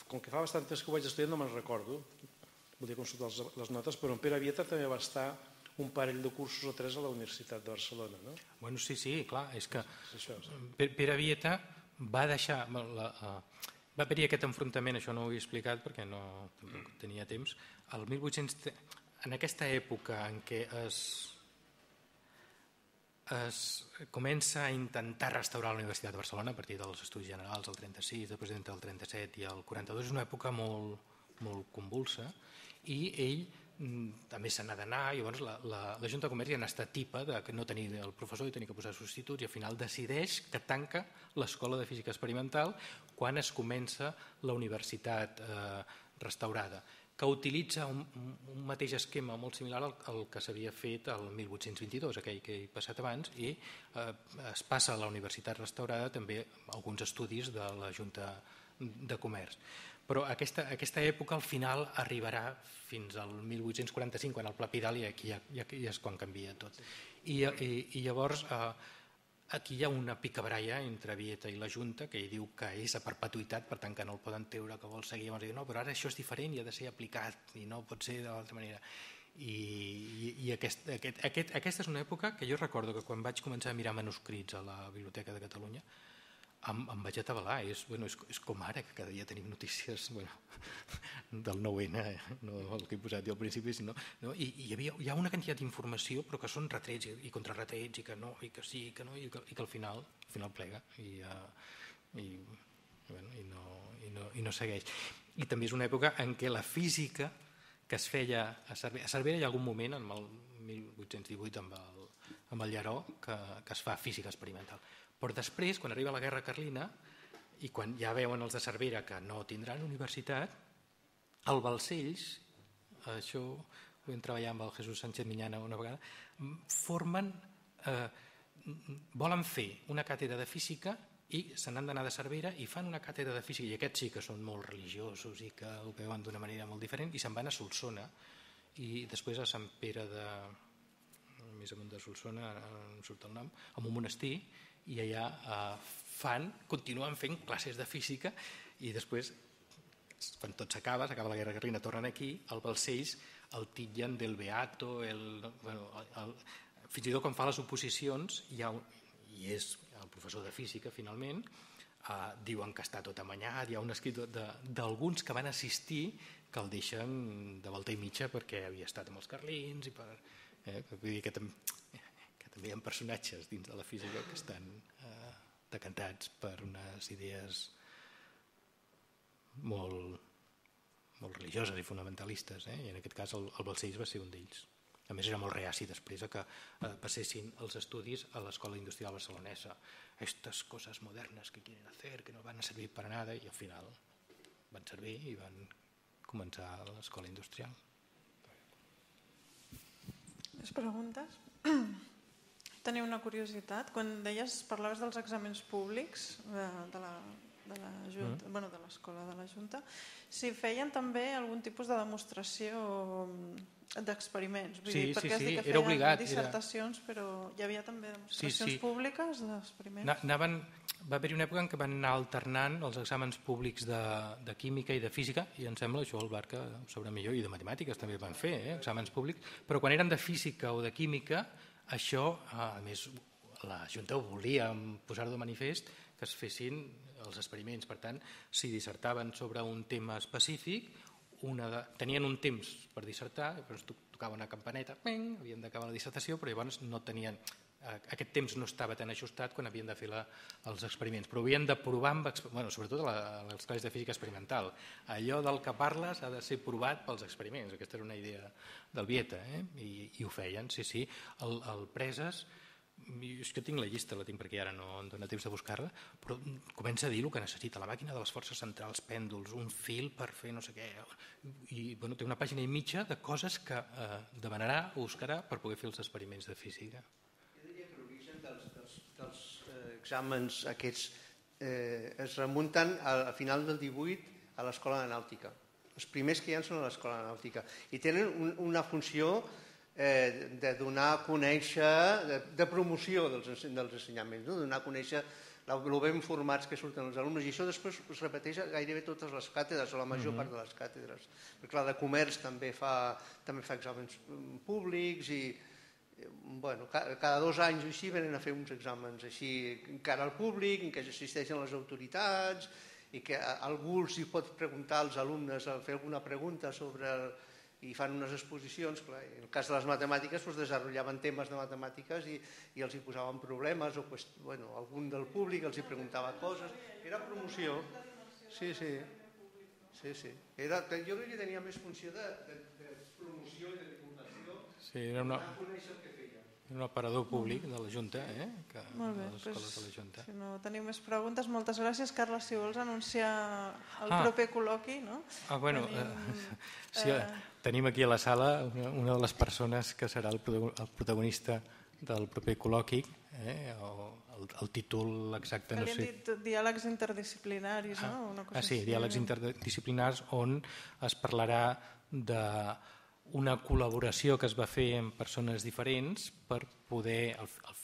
com que fa bastant temps que ho vaig estudiar no me'n recordo, volia consultar les notes, però en Pere Vieta també va estar un parell de cursos o 3 a la Universitat de Barcelona, no? Bueno, sí, clar, és que Això. Pere Vieta va deixar... Va haver-hi aquest enfrontament, això no ho he explicat perquè no tenia temps. El 1800, en aquesta època en què es comença a intentar restaurar la Universitat de Barcelona a partir dels Estudis Generals, el 36, el president del 37 i el 42, és una època molt convulsa, i ell també se n'ha d'anar, i llavors la Junta de Comerç ja n'està tipa de no tenir el professor i tenir que posar substituts, i al final decideix que tanca l'Escola de Física Experimental quan es comença la universitat restaurada, que utilitza un mateix esquema molt similar al que s'havia fet el 1822, aquell que he passat abans, i es passa a la universitat restaurada també alguns estudis de la Junta de Comerç. Però aquesta època al final arribarà fins al 1845, quan el Pla Pidal, i aquí ja és quan canvia tot. I llavors aquí hi ha una picabaralla entre Vieta i la Junta, que ell diu que és a perpetuïtat, per tant que no el poden treure, que vol seguir. Llavors diu, no, però ara això és diferent i ha de ser aplicat, i no pot ser d'altra manera. I aquesta és una època que jo recordo que quan vaig començar a mirar manuscrits a la Biblioteca de Catalunya em vaig atabalar. És com ara, que cada dia tenim notícies del 9-N, no el que he posat jo al principi, sinó, i hi ha una quantitat d'informació, però que són retrets i contrarretrets, i que no, i que sí, i que no, i que al final plega i no segueix. I també és una època en què la física que es feia a Cervera, hi ha algun moment, en el 1818, amb el Lleró, que es fa física experimental. Però després, quan arriba la Guerra Carlina, i quan ja veuen els de Cervera que no tindran universitat, el Balcells, això ho vam treballar amb el Jesús Sánchez Miñana una vegada, volen fer una càtedra de física i se n'han d'anar de Cervera i fan una càtedra de física, i aquests sí que són molt religiosos i que ho veuen d'una manera molt diferent, i se'n van a Solsona, i després a Sant Pere més amunt de Solsona, em surt el nom, en un monestir, i allà continuen fent classes de física, i després, quan tot s'acaba la Guerra Carlina, tornen aquí, el Balcells el titllen del Beato, fins i tot quan fa les oposicions, i és el professor de física finalment, diuen que està tot amanyat, hi ha un escrit d'alguns que van assistir que el deixen de volta i mitja perquè havia estat amb els carlins, vull dir que també hi ha personatges dins de la física que estan decantats per unes idees molt religioses i fonamentalistes, i en aquest cas el Balcells va ser un d'ells. A més, era molt reaci després que passessin els estudis a l'Escola Industrial Barcelonesa. Estas cosas modernas que quieren hacer, que no van a servir para nada, i al final van servir i van començar l'Escola Industrial. Les preguntes? Tenia una curiositat. Quan parlaves dels exàmens públics de l'Escola de la Junta, si feien també algun tipus de demostració d'experiments. Sí, era obligat. Dissertacions, però hi havia també demostracions públiques d'experiments? Va haver-hi una època en què van anar alternant els exàmens públics de química i de física, i em sembla, això el Barca ho sabrà millor, i de matemàtiques també van fer, exàmens públics, però quan eren de física o de química, això, a més, la Junta ho volia posar de manifest, que es fessin els experiments. Per tant, si dissertaven sobre un tema específic, tenien un temps per dissertar, llavors tocava una campaneta, havien d'acabar la dissertació, però llavors no tenien... Aquest temps no estava tan ajustat quan havien de fer els experiments, però havien de provar, sobretot a les classes de física experimental. Allò del que parles ha de ser provat pels experiments. Aquesta era una idea del Vieta, i ho feien, sí. El Preses, és que tinc la llista, la tinc perquè ara no em dóna temps de buscar-la, però comença a dir el que necessita, la màquina de les forces centrals, pèndols, un fil per fer no sé què, i té una pàgina i mitja de coses que demanarà o buscarà per poder fer els experiments de física. Els exàmens aquests es remunten a final del 18 a l'Escola de Nàutica. Els primers que hi ha són a l'Escola de Nàutica i tenen una funció de donar a conèixer, de promoció dels ensenyaments, donar a conèixer el ben formats que surten els alumnes, i això després es repeteix a gairebé totes les càtedres, o la major part de les càtedres. Perquè clar, de comerç també fa exàmens públics i bueno, cada 2 anys o així venen a fer uns exàmens així encara al públic, en què assisteixen les autoritats i que algú els hi pot preguntar als alumnes, fer alguna pregunta sobre i fan unes exposicions. Clar, en el cas de les matemàtiques desenvolupaven temes de matemàtiques i els hi posaven problemes o bueno, algun del públic els hi preguntava coses. Era promoció. Sí. Jo crec que tenia més funció de promoció i de divulgació. Sí, era un aparador públic de la Junta, de Molt les bé, escoles de la Junta. si no teniu més preguntes, moltes gràcies. Carles, si vols anunciar el proper col·loqui, no? Tenim aquí a la sala una de les persones que serà el protagonista del proper col·loqui, el títol exacte Que no li hem sé. dit diàlegs interdisciplinaris, no? Sí, diàlegs interdisciplinars on es parlarà d'una col·laboració que es va fer amb persones diferents per poder,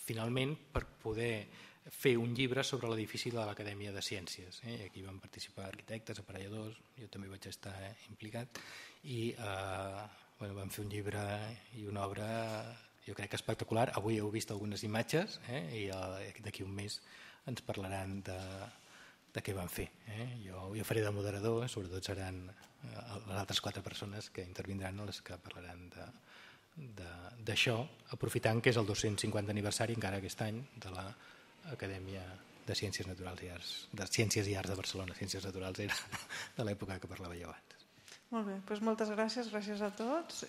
finalment, per poder fer un llibre sobre l'edifici de l'Acadèmia de Ciències. Aquí van participar arquitectes, aparelladors, jo també vaig estar implicat, i vam fer un llibre i una obra, jo crec que espectacular. Avui heu vist algunes imatges i d'aquí un mes ens parlaran de què van fer. Jo faré de moderador, sobretot seran les altres 4 persones que intervindran les que parlaran d'això, aprofitant que és el 250 aniversari encara aquest any de l'Acadèmia de Ciències Naturals i Arts, de Ciències i Arts de Barcelona. Ciències Naturals era de l'època que parlava jo abans. Molt bé, doncs moltes gràcies a tots.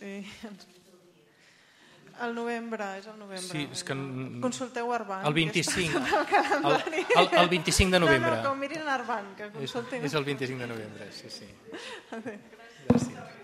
El novembre, és el novembre. Sí, és que consulteu Arban. El 25. El 25 de novembre. No, que ho mirin Arban, que consultin. És el 25 de novembre, sí. Adéu. Gràcies.